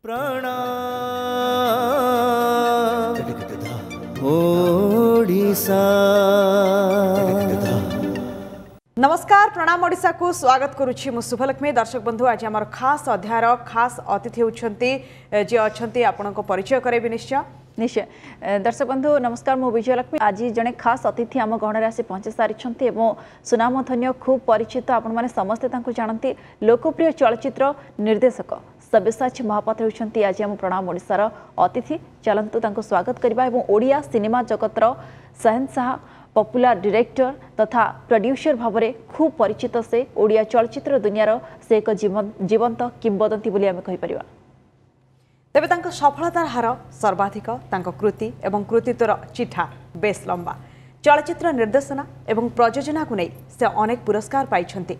ପ୍ରଣାମ ଓଡ଼ିଶା। ନମସ୍କାର, ପ୍ରଣାମ ଓଡ଼ିଶାକୁ ସ୍ୱାଗତ କରୁଛି ମୁଁ ଶୁଭଲକ୍ଷ୍ମୀ। ଦର୍ଶକ ବନ୍ଧୁ, ଆଜି ଆମର ଖାସ୍ ଅଧ୍ୟାୟର ଖାସ୍ ଅତିଥି ହେଉଛନ୍ତି ଯିଏ ଅଛନ୍ତି, ଆପଣଙ୍କ ପରିଚୟ କରାଇବି ନିଶ୍ଚୟ। ନିଶ୍ଚୟ। ଦର୍ଶକ ବନ୍ଧୁ ନମସ୍କାର, ମୁଁ ବିଜୟଲକ୍ଷ୍ମୀ। ଆଜି ଜଣେ ଖାସ୍ ଅତିଥି ଆମ ଗହଣରେ ଆସି ପହଞ୍ଚି ସାରିଛନ୍ତି ଏବଂ ସୁନାମଧନ୍ୟ, ଖୁବ୍ ପରିଚିତ, ଆପଣମାନେ ସମସ୍ତେ ତାଙ୍କୁ ଜାଣନ୍ତି, ଲୋକପ୍ରିୟ ଚଳଚ୍ଚିତ୍ର ନିର୍ଦ୍ଦେଶକ ସବ୍ୟସାଚୀ ମହାପାତ୍ର ହେଉଛନ୍ତି ଆଜି ଆମ ପ୍ରଣାମ ଓଡ଼ିଶାର ଅତିଥି। ଚାଲନ୍ତୁ ତାଙ୍କୁ ସ୍ୱାଗତ କରିବା। ଏବଂ ଓଡ଼ିଆ ସିନେମା ଜଗତର ଶହେନଶାହ, ପପୁଲାର ଡିରେକ୍ଟର ତଥା ପ୍ରଡ୍ୟୁସର ଭାବରେ ଖୁବ୍ ପରିଚିତ ସେ। ଓଡ଼ିଆ ଚଳଚ୍ଚିତ୍ର ଦୁନିଆର ସେ ଏକ ଜୀବନ୍ତ କିମ୍ବଦନ୍ତୀ ବୋଲି ଆମେ କହିପାରିବା। ତେବେ ତାଙ୍କ ସଫଳତାର ହାର ସର୍ବାଧିକ, ତାଙ୍କ କୃତି ଏବଂ କୃତିତ୍ୱର ଚିଠା ବେଶ୍ ଲମ୍ବା। ଚଳଚ୍ଚିତ୍ର ନିର୍ଦ୍ଦେଶନା ଏବଂ ପ୍ରଯୋଜନାକୁ ନେଇ ସେ ଅନେକ ପୁରସ୍କାର ପାଇଛନ୍ତି।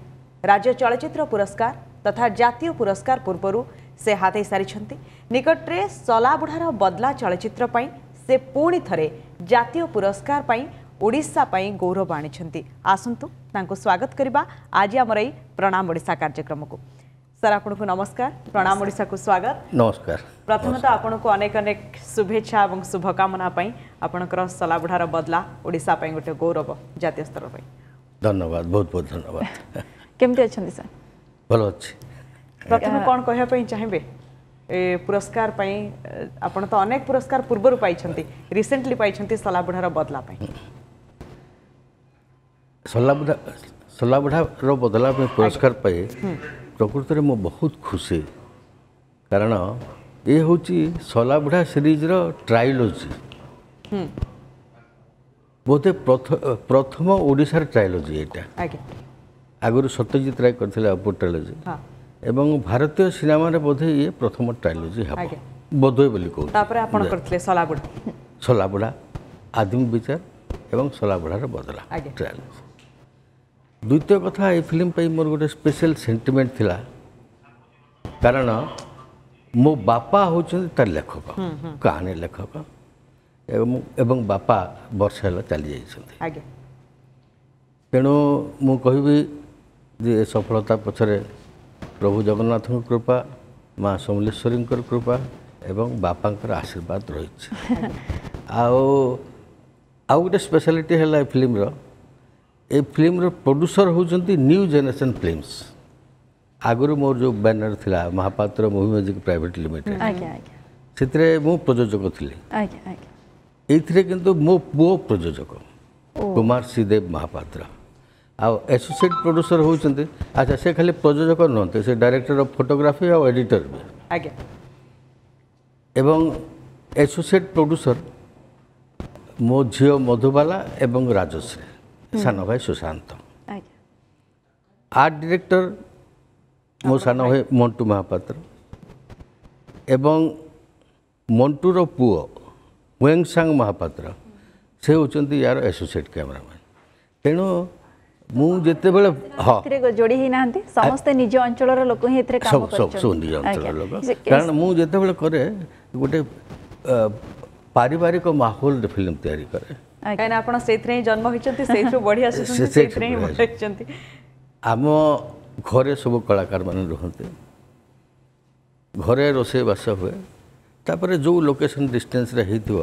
ରାଜ୍ୟ ଚଳଚ୍ଚିତ୍ର ପୁରସ୍କାର ତଥା ଜାତୀୟ ପୁରସ୍କାର ପୂର୍ବରୁ ସେ ହାତେଇ ସାରିଛନ୍ତି। ନିକଟରେ ସଲାବୁଢ଼ାର ବଦଲା ଚଳଚ୍ଚିତ୍ର ପାଇଁ ସେ ପୁଣି ଥରେ ଜାତୀୟ ପୁରସ୍କାର ପାଇଁ ଓଡ଼ିଶା ପାଇଁ ଗୌରବ ଆଣିଛନ୍ତି। ଆସନ୍ତୁ ତାଙ୍କୁ ସ୍ୱାଗତ କରିବା ଆଜି ଆମର ଏଇ ପ୍ରଣାମ ଓଡ଼ିଶା କାର୍ଯ୍ୟକ୍ରମକୁ। ସାର୍, ଆପଣଙ୍କୁ ନମସ୍କାର, ପ୍ରଣାମ ଓଡ଼ିଶାକୁ ସ୍ୱାଗତ। ନମସ୍କାର। ପ୍ରଥମେ ତ ଆପଣଙ୍କୁ ଅନେକ ଅନେକ ଶୁଭେଚ୍ଛା ଏବଂ ଶୁଭକାମନା ପାଇଁ, ଆପଣଙ୍କର ସଲାବୁଢ଼ାର ବଦଲା ଓଡ଼ିଶା ପାଇଁ ଗୋଟେ ଗୌରବ ଜାତୀୟ ସ୍ତର ପାଇଁ। ଧନ୍ୟବାଦ, ବହୁତ ବହୁତ ଧନ୍ୟବାଦ। କେମିତି ଅଛନ୍ତି ସାର୍? ଭଲ ଅଛି। ପ୍ରଥମେ କ'ଣ କହିବା ପାଇଁ ଚାହିଁବେ ଏ ପୁରସ୍କାର ପାଇଁ? ଆପଣ ତ ଅନେକ ପୁରସ୍କାର ପୂର୍ବରୁ ପାଇଛନ୍ତି, ରିସେଣ୍ଟଲି ପାଇଛନ୍ତି ସଲାବୁଢ଼ାର ବଦଲା ପାଇଁ। ସଲାବୁଢ଼ା ସଲାବୁଢ଼ାର ବଦଲା ପାଇଁ ପୁରସ୍କାର ପାଇ ପ୍ରକୃତରେ ମୁଁ ବହୁତ ଖୁସି, କାରଣ ଏ ହେଉଛି ସଲାବୁଢ଼ା ସିରିଜ୍ର ଟ୍ରାଇଲୋଜି, ବୋଧେ ପ୍ରଥମ ଓଡ଼ିଶାର ଟ୍ରାଇଲୋଜି ଏଇଟା। ଆଗରୁ ସତ୍ୟଜିତ ରାୟ କରିଥିଲେ ଅପୁ ଟ୍ରାଇଲୋଜି, ଏବଂ ଭାରତୀୟ ସିନେମାରେ ବୋଧେ ଇଏ ପ୍ରଥମ ଟ୍ରାଇଲୋଜି ହେବ ବୋଧେ ବୋଲି କହୁଛି। ତାପରେ ଆପଣ କରିଥିଲେ ସଲାବୁଢ଼ା, ସଲାବୁଢ଼ା, ଆଦିମ ବିଚାର ଏବଂ ସଲାବୁଢ଼ାର ବଦଲା ଟ୍ରାଇଲୋଜି। ଦ୍ୱିତୀୟ କଥା, ଏ ଫିଲ୍ମ ପାଇଁ ମୋର ଗୋଟେ ସ୍ପେଶାଲ ସେଣ୍ଟିମେଣ୍ଟ ଥିଲା, କାରଣ ମୋ ବାପା ହେଉଛନ୍ତି ତାର ଲେଖକ, କାହାଣୀ ଲେଖକ, ଏବଂ ବାପା ବର୍ଷ ହେଲା ଚାଲି ଯାଇଛନ୍ତି। ତେଣୁ ମୁଁ କହିବି ଯେ ଏ ସଫଳତା ପଛରେ ପ୍ରଭୁ ଜଗନ୍ନାଥଙ୍କ କୃପା, ମା ସମଲେଶ୍ୱରୀଙ୍କର କୃପା ଏବଂ ବାପାଙ୍କର ଆଶୀର୍ବାଦ ରହିଛି। ଆଉ ଆଉ ଗୋଟେ ସ୍ପେଶାଲିଟି ହେଲା ଏ ଫିଲ୍ମର, ଏ ଫିଲ୍ମର ପ୍ରଡ୍ୟୁସର ହେଉଛନ୍ତି ନ୍ୟୁ ଜେନେରେସନ୍ ଫିଲ୍ମସ୍। ଆଗରୁ ମୋର ଯେଉଁ ବ୍ୟାନର ଥିଲା Mohapatra movie music private limited, ସେଥିରେ ମୁଁ ପ୍ରଯୋଜକ ଥିଲି। ଏଇଥିରେ କିନ୍ତୁ ମୋ ପୁଅ ପ୍ରଯୋଜକ, କୁମାର ଶ୍ରୀଦେବ ମହାପାତ୍ର। ଆଉ ଆସୋସିଏଟ୍ ପ୍ରଡ୍ୟୁସର ହେଉଛନ୍ତି, ଆଚ୍ଛା, ସେ ଖାଲି ପ୍ରଯୋଜକ ନୁହନ୍ତି, ସେ ଡାଇରେକ୍ଟର ଅଫ୍ ଫଟୋଗ୍ରାଫି ଆଉ ଏଡିଟର ବି। ଏବଂ ଆସୋସିଏଟ୍ ପ୍ରଡ୍ୟୁସର ମୋ ଝିଅ ମଧୁବାଲା ଏବଂ ରାଜଶ୍ରୀ, ସାନ ଭାଇ ସୁଶାନ୍ତ। ଆର୍ଟ ଡିରେକ୍ଟର ମୋ ସାନ ଭାଇ ମଣ୍ଟୁ ମହାପାତ୍ର ଏବଂ ମଣ୍ଟୁର ପୁଅ ୱେଙ୍ଗସାଙ୍ଗ ମହାପାତ୍ର, ସେ ହେଉଛନ୍ତି ୟାର ଆସୋସିଏଟ୍ କ୍ୟାମେରାମ୍ୟାନ୍। ତେଣୁ ମୁଁ ଯେତେବେଳେ, ହଁ, ଯୋଡ଼ି ହେଇନାହାନ୍ତି, ସମସ୍ତେ ନିଜ ଅଞ୍ଚଳର ଲୋକ ହିଁ ଏଥିରେ କାମ ସବୁ ସବୁ ନିଜ ଅଞ୍ଚଳର ଲୋକ। କାରଣ ମୁଁ ଯେତେବେଳେ କରେ, ଗୋଟେ ପାରିବାରିକ ମାହୋଲରେ ଫିଲ୍ମ ତିଆରି କରେ। କାହିଁକିନା ଆପଣ ସେଇଥିରେ ହିଁ ଜନ୍ମ ହୋଇଛନ୍ତି, ସେଇଥିରୁ ବଢ଼ି ଆସିଛନ୍ତି, ସେଇଥିରେ ହିଁ ବଡ଼ ହେଇଛନ୍ତି। ଆମ ଘରେ ସବୁ କଳାକାରମାନେ ରୁହନ୍ତି, ଘରେ ରୋଷେଇବାସ ହୁଏ, ତାପରେ ଯେଉଁ ଲୋକେସନ୍ ଡିଷ୍ଟାନ୍ସରେ ହେଇଥିବ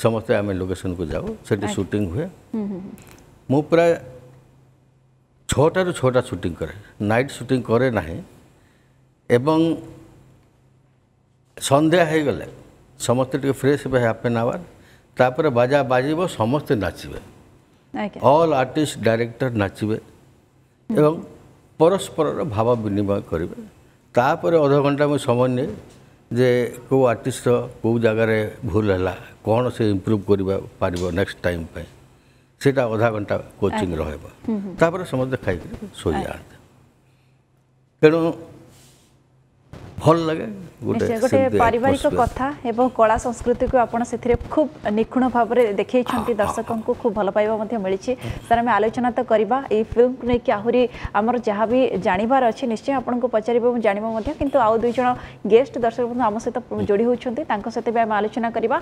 ସମସ୍ତେ ଆମେ ଲୋକେସନ୍କୁ ଯାଉ, ସେଠି ସୁଟିଂ ହୁଏ। ମୁଁ ପ୍ରାୟ 6ଟାରୁ 6ଟା ସୁଟିଂ କରେ, ନାଇଟ୍ ସୁଟିଂ କରେ ନାହିଁ। ଏବଂ ସନ୍ଧ୍ୟା ହେଇଗଲେ ସମସ୍ତେ ଟିକେ ଫ୍ରେଶ୍ ହେବେ, ହାଫ୍ ଆନ୍ ଆୱାର, ତାପରେ ବାଜା ବାଜିବ, ସମସ୍ତେ ନାଚିବେ, ଅଲ୍ ଆର୍ଟିଷ୍ଟ ଡାଇରେକ୍ଟର ନାଚିବେ ଏବଂ ପରସ୍ପରର ଭାବ ବିନିମୟ କରିବେ। ତାପରେ ଅଧଘଣ୍ଟା ମୁଁ ସମୟ ନିଏ ଯେ କେଉଁ ଆର୍ଟିଷ୍ଟର କେଉଁ ଜାଗାରେ ଭୁଲ ହେଲା, କ'ଣ ସେ ଇମ୍ପ୍ରୁଭ୍ କରିବା ପାରିବ ନେକ୍ସଟ ଟାଇମ୍ ପାଇଁ, ସେଇଟା ଅଧା ଘଣ୍ଟା କୋଚିଂ ରହିବ। ତାପରେ ସମସ୍ତେ ଖାଇକରି ଶୋଇଯାଆନ୍ତି। ତେଣୁ ଭଲ ଲାଗେ। ଗୋଟେ ପାରିବାରିକ କଥା ଏବଂ କଳା ସଂସ୍କୃତିକୁ ଆପଣ ସେଥିରେ ଖୁବ୍ ନିଖୁଣ ଭାବରେ ଦେଖେଇଛନ୍ତି, ଦର୍ଶକଙ୍କୁ ଖୁବ୍ ଭଲ ପାଇବା ମଧ୍ୟ ମିଳିଛି। ସାର୍, ଆମେ ଆଲୋଚନା ତ କରିବା ଏଇ ଫିଲ୍ମକୁ ନେଇକି, ଆହୁରି ଆମର ଯାହା ବି ଜାଣିବାର ଅଛି ନିଶ୍ଚୟ ଆପଣଙ୍କୁ ପଚାରିବ ଏବଂ ଜାଣିବା ମଧ୍ୟ, କିନ୍ତୁ ଆଉ ଦୁଇ ଜଣ ଗେଷ୍ଟ ଦର୍ଶକ ବନ୍ଧୁ ଆମ ସହିତ ଯୋଡ଼ି ହେଉଛନ୍ତି, ତାଙ୍କ ସହିତ ବି ଆମେ ଆଲୋଚନା କରିବା।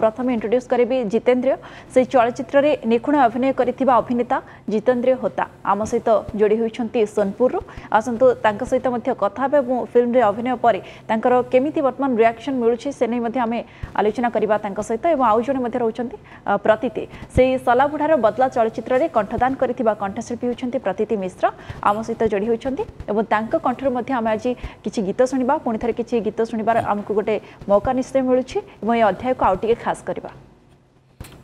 ପ୍ରଥମେ ଇଣ୍ଟ୍ରୋଡ୍ୟୁସ୍ କରିବି ଜିତେନ୍ଦ୍ରିୟ, ସେଇ ଚଳଚ୍ଚିତ୍ରରେ ନିଖୁଣ ଅଭିନୟ କରିଥିବା ଅଭିନେତା ଜିତେନ୍ଦ୍ରିୟ ହୋତା ଆମ ସହିତ ଯୋଡ଼ି ହୋଇଛନ୍ତି ସୋନପୁରରୁ। ଆସନ୍ତୁ ତାଙ୍କ ସହିତ ମଧ୍ୟ କଥା ହେବା ଏବଂ ଫିଲ୍ମରେ ଅଭିନୟ ପରେ ତାଙ୍କର କେମିତି ବର୍ତ୍ତମାନ ରିଆକ୍ସନ୍ ମିଳୁଛି ସେ ନେଇ ମଧ୍ୟ ଆମେ ଆଲୋଚନା କରିବା ତାଙ୍କ ସହିତ। ଏବଂ ଆଉ ଜଣେ ମଧ୍ୟ ରହୁଛନ୍ତି ପ୍ରତୀତି, ସେଇ ଶଲାବୁଢ଼ାର ବଦଲା ଚଳଚ୍ଚିତ୍ରରେ କଣ୍ଠଦାନ କରିଥିବା କଣ୍ଠଶିଳ୍ପୀ ହେଉଛନ୍ତି ପ୍ରତୀତି ମିଶ୍ର, ଆମ ସହିତ ଯୋଡ଼ି ହୋଇଛନ୍ତି ଏବଂ ତାଙ୍କ କଣ୍ଠରୁ ମଧ୍ୟ ଆମେ ଆଜି କିଛି ଗୀତ ଶୁଣିବା। ପୁଣି ଥରେ କିଛି ଗୀତ ଶୁଣିବାର ଆମକୁ ଗୋଟେ ମୌକା ନିଶ୍ଚୟ ମିଳୁଛି ଏବଂ ଏ ଅଧ୍ୟାୟକୁ ଆଉ ଟିକେ ଖାସ୍ କରିବା।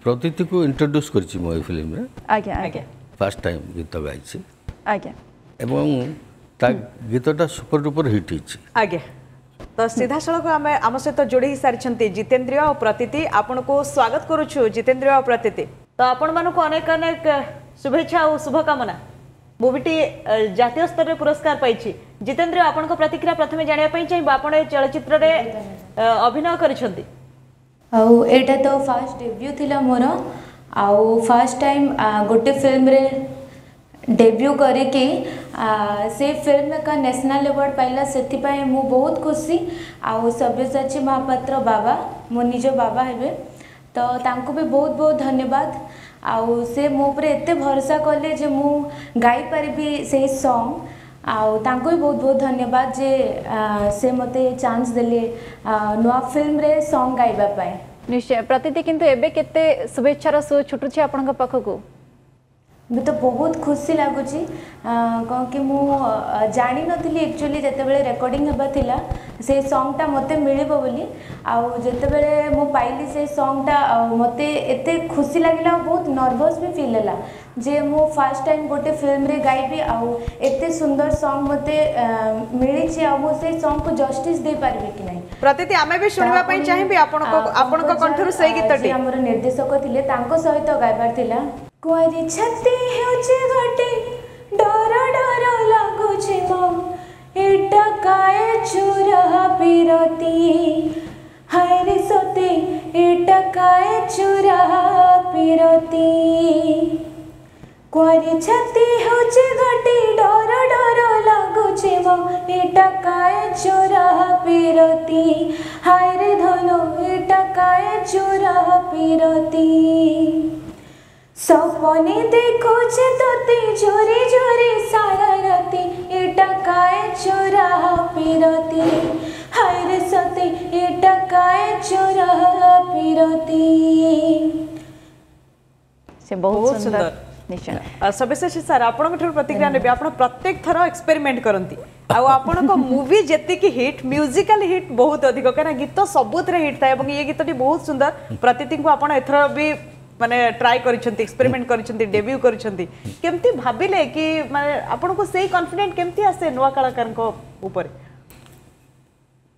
ପ୍ରତୀତିକୁ ଇଣ୍ଟ୍ରୋଡ୍ୟୁସ୍ କରିଛି ମୁଁ ଏଇ ଫିଲ୍ମରେ। ଆଜ୍ଞା ଆଜ୍ଞା, ଫାର୍ଷ୍ଟ ଟାଇମ୍ ଗୀତ ଗାଇଛି। ଆଜ୍ଞା, ଏବଂ ତା ଗୀତଟା ସୁପର ଡୁପର ହିଟ୍ ହେଇଛି। ଆଜ୍ଞା, ତ ସିଧାସଳଖ ଆମେ ଆମ ସହିତ ଯୋଡ଼ି ହେଇସାରିଛନ୍ତି ଜିତେନ୍ଦ୍ରିୟ ଆଉ ପ୍ରତୀତି। ଆପଣଙ୍କୁ ସ୍ୱାଗତ କରୁଛୁ ଜିତେନ୍ଦ୍ରିୟ ଆଉ ପ୍ରତୀତି। ତ ଆପଣମାନଙ୍କୁ ଅନେକ ଅନେକ ଶୁଭେଚ୍ଛା ଆଉ ଶୁଭକାମନା। ମୁଭିଟି ଜାତୀୟ ସ୍ତରରେ ପୁରସ୍କାର ପାଇଛି। ଜିତେନ୍ଦ୍ରିୟ, ଆପଣଙ୍କ ପ୍ରତିକ୍ରିୟା ପ୍ରଥମେ ଜାଣିବା ପାଇଁ ଚାହିଁବୁ। ଆପଣ ଏ ଚଳଚ୍ଚିତ୍ରରେ ଅଭିନୟ କରିଛନ୍ତି ଆଉ ଏଇଟା ତ ଫାର୍ଷ୍ଟ ଡେବ୍ୟୁ ଥିଲା ମୋର, ଆଉ ଫାର୍ଷ୍ଟ ଟାଇମ୍ ଗୋଟେ ଫିଲ୍ମରେ ଡେବ୍ୟୁ କରିକି ସେ ଫିଲ୍ମ ଏକା ନ୍ୟାସନାଲ୍ ଆୱାର୍ଡ଼ ପାଇଲା, ସେଥିପାଇଁ ମୁଁ ବହୁତ ଖୁସି। ଆଉ ସବ୍ୟସାଚୀ ମହାପାତ୍ର ବାବା ମୋ ନିଜ ବାବା ହେବେ, ତ ତାଙ୍କୁ ବି ବହୁତ ବହୁତ ଧନ୍ୟବାଦ। ଆଉ ସେ ମୋ ଉପରେ ଏତେ ଭରସା କଲେ ଯେ ମୁଁ ଗାଇପାରିବି ସେଇ ସଙ୍ଗ୍, ଆଉ ତାଙ୍କୁ ବି ବହୁତ ବହୁତ ଧନ୍ୟବାଦ ଯେ ସେ ମୋତେ ଚାନ୍ସ ଦେଲେ ନୂଆ ଫିଲ୍ମରେ ସଙ୍ଗ୍ ଗାଇବା ପାଇଁ। ନିଶ୍ଚୟ ପ୍ରତୀତି, କିନ୍ତୁ ଏବେ କେତେ ଶୁଭେଚ୍ଛାର ସୁଅ ଛୁଟୁଛି ଆପଣଙ୍କ ପାଖକୁ? ଏବେ ତ ବହୁତ ଖୁସି ଲାଗୁଛି, କ'ଣ କି ମୁଁ ଜାଣିନଥିଲି ଆକ୍ଚୁଆଲି ଯେତେବେଳେ ରେକର୍ଡ଼ିଂ ହେବା ଥିଲା ସେ ସଙ୍ଗଟା ମୋତେ ମିଳିବ ବୋଲି, ଆଉ ଯେତେବେଳେ ମୁଁ ପାଇଲି ସେ ସଙ୍ଗଟା ଆଉ ମୋତେ ଏତେ ଖୁସି ଲାଗିଲା ଆଉ ବହୁତ ନର୍ଭସ୍ ବି ଫିଲ୍ ହେଲା ଯେ ମୁଁ ଫାର୍ଷ୍ଟ ଟାଇମ୍ ଗୋଟେ ଫିଲ୍ମରେ ଗାଇବି ଆଉ ଏତେ ସୁନ୍ଦର ସଙ୍ଗ୍ ମୋତେ ମିଳିଛି, ଆଉ ମୁଁ ସେଇ ସଙ୍ଗକୁ ଜଷ୍ଟିସ୍ ଦେଇପାରିବି କି ନାହିଁ। ପ୍ରତୀତି, ଆମେ ବି ଶୁଣିବା ପାଇଁ ଚାହିଁବି ଆପଣଙ୍କ କଣ୍ଠରୁ ସେଇ ଗୀତଟି। ଆମର ନିର୍ଦ୍ଦେଶକ ଥିଲେ ତାଙ୍କ ସହିତ ଗାଇବାର ଥିଲା। କୁଆଁରୀ ଛାତି ହେଉଛି ଗୋଟେ ଡର ଡର ଲାଗୁଛି ମୋ, ଏଟା କାଏ ଚୁରା ପିରତି, ହାୟରେ ସତେ ଏଟା କାଏ ଚୁରା ପିରତି। କୁଆଁରୀ ଛାତି ହେଉଛି ଗୋଟେ ଡର ଡର ଲାଗୁଛି ମୋ, ଏଟା କାଏ ଚୁରା ପିରତି, ହାୟରେ ଧନ ଏଟା କାଏ ଚୁରା ପିରତି। ସପନେ ଦେଖୁଛେ ତୋତେ ଝୁରି ଝୁରି ସାରା ରାତି, ଏଟା କାଏ ଚୋରା ପିରତି, ହାୟରେ ସତେ ଏଟା କାଏ ଚୋରା ପିରତି। ସେ ବହୁତ ସୁନ୍ଦର। ନିଶ୍ଚୟ ସବ୍ୟସାଚୀ ସାର୍, ଆପଣଙ୍କ ଠାରୁ ପ୍ରତିକ୍ରିୟା ନେବି। ଆପଣ ପ୍ରତ୍ୟେକ ଥର ଏକ୍ସପେରିମେଣ୍ଟ କରନ୍ତି ଆଉ ଆପଣଙ୍କ ମୁଭି ଯେତିକି ହିଟ୍, ମ୍ୟୁଜିକାଲ ହିଟ୍ ବହୁତ ଅଧିକ, କାହିଁକିନା ଗୀତ ସବୁଥିରେ ହିଟ୍ ଥାଏ ଏବଂ ଇଏ ଗୀତଟି ବହୁତ ସୁନ୍ଦର। ପ୍ରତୀତିଙ୍କୁ ଆପଣ ଏଥର ବି ମାନେ ଟ୍ରାଏ କରିଛନ୍ତି, ଏକ୍ସପେରିମେଣ୍ଟ କରିଛନ୍ତି, ଡେବ୍ୟୁ କରିଛନ୍ତି। କେମିତି ଭାବିଲେ କି ମାନେ ଆପଣଙ୍କୁ ସେଇ କନଫିଡେଣ୍ଟ କେମିତି ଆସେ ନୂଆ କଳାକାରଙ୍କ ଉପରେ?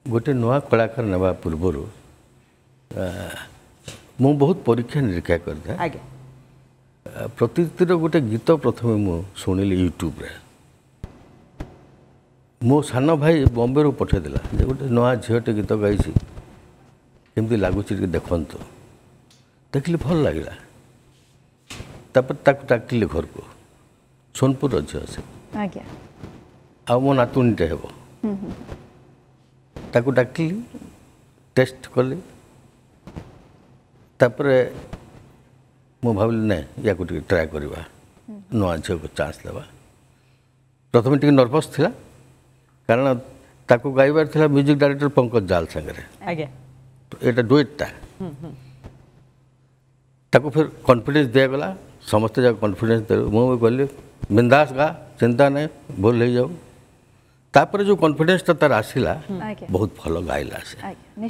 ଗୋଟେ ନୂଆ କଳାକାର ନେବା ପୂର୍ବରୁ ମୁଁ ବହୁତ ପରୀକ୍ଷା ନିରୀକ୍ଷା କରିଥାଏ। ଆଜ୍ଞା, ପ୍ରତୀତିର ଗୋଟେ ଗୀତ ପ୍ରଥମେ ମୁଁ ଶୁଣିଲି ୟୁଟ୍ୟୁବରେ। ମୋ ସାନ ଭାଇ ବମ୍ବେରୁ ପଠାଇଦେଲା ଯେ ଗୋଟେ ନୂଆ ଝିଅଟେ ଗୀତ ଗାଇଛି, କେମିତି ଲାଗୁଛି ଟିକେ ଦେଖନ୍ତୁ। ଦେଖିଲି ଭଲ ଲାଗିଲା। ତାପରେ ତାକୁ ଡାକିଲି ଘରକୁ, ସୋନପୁରର ଝିଅ ସେ। ଆଜ୍ଞା, ଆଉ ମୋ ନାତୁଣୀଟେ ହେବ। ତାକୁ ଡାକିଲି, ଟେଷ୍ଟ କଲି। ତାପରେ ମୁଁ ଭାବିଲି ନାଇଁ ୟାକୁ ଟିକେ ଟ୍ରାଏ କରିବା, ନୂଆ ଝିଅକୁ ଚାନ୍ସ ଦେବା। ପ୍ରଥମେ ଟିକେ ନର୍ଭସ୍ ଥିଲା, କାରଣ ତାକୁ ଗାଇବାର ଥିଲା ମ୍ୟୁଜିକ୍ ଡାଇରେକ୍ଟର ପଙ୍କଜ ଜାଲ ସାଙ୍ଗରେ। ଆଜ୍ଞା, ଏଇଟା ଡୁଏଟ୍ଟା। ତାକୁ ଫେର କନଫିଡେନ୍ସ ଦିଆଗଲା, ସମସ୍ତେ ଯାକ କନଫିଡେନ୍ସ ଦେଲେ। ମୁଁ ବି କହିଲି ବିନ୍ଦାସ ଗା, ଚିନ୍ତା ନାହିଁ, ଭୁଲ ହେଇଯାଉ। ତାପରେ ଯେଉଁ କନଫିଡେନ୍ସଟା ତାର ଆସିଲା, ବହୁତ ଭଲ ଗାଇଲା ସେ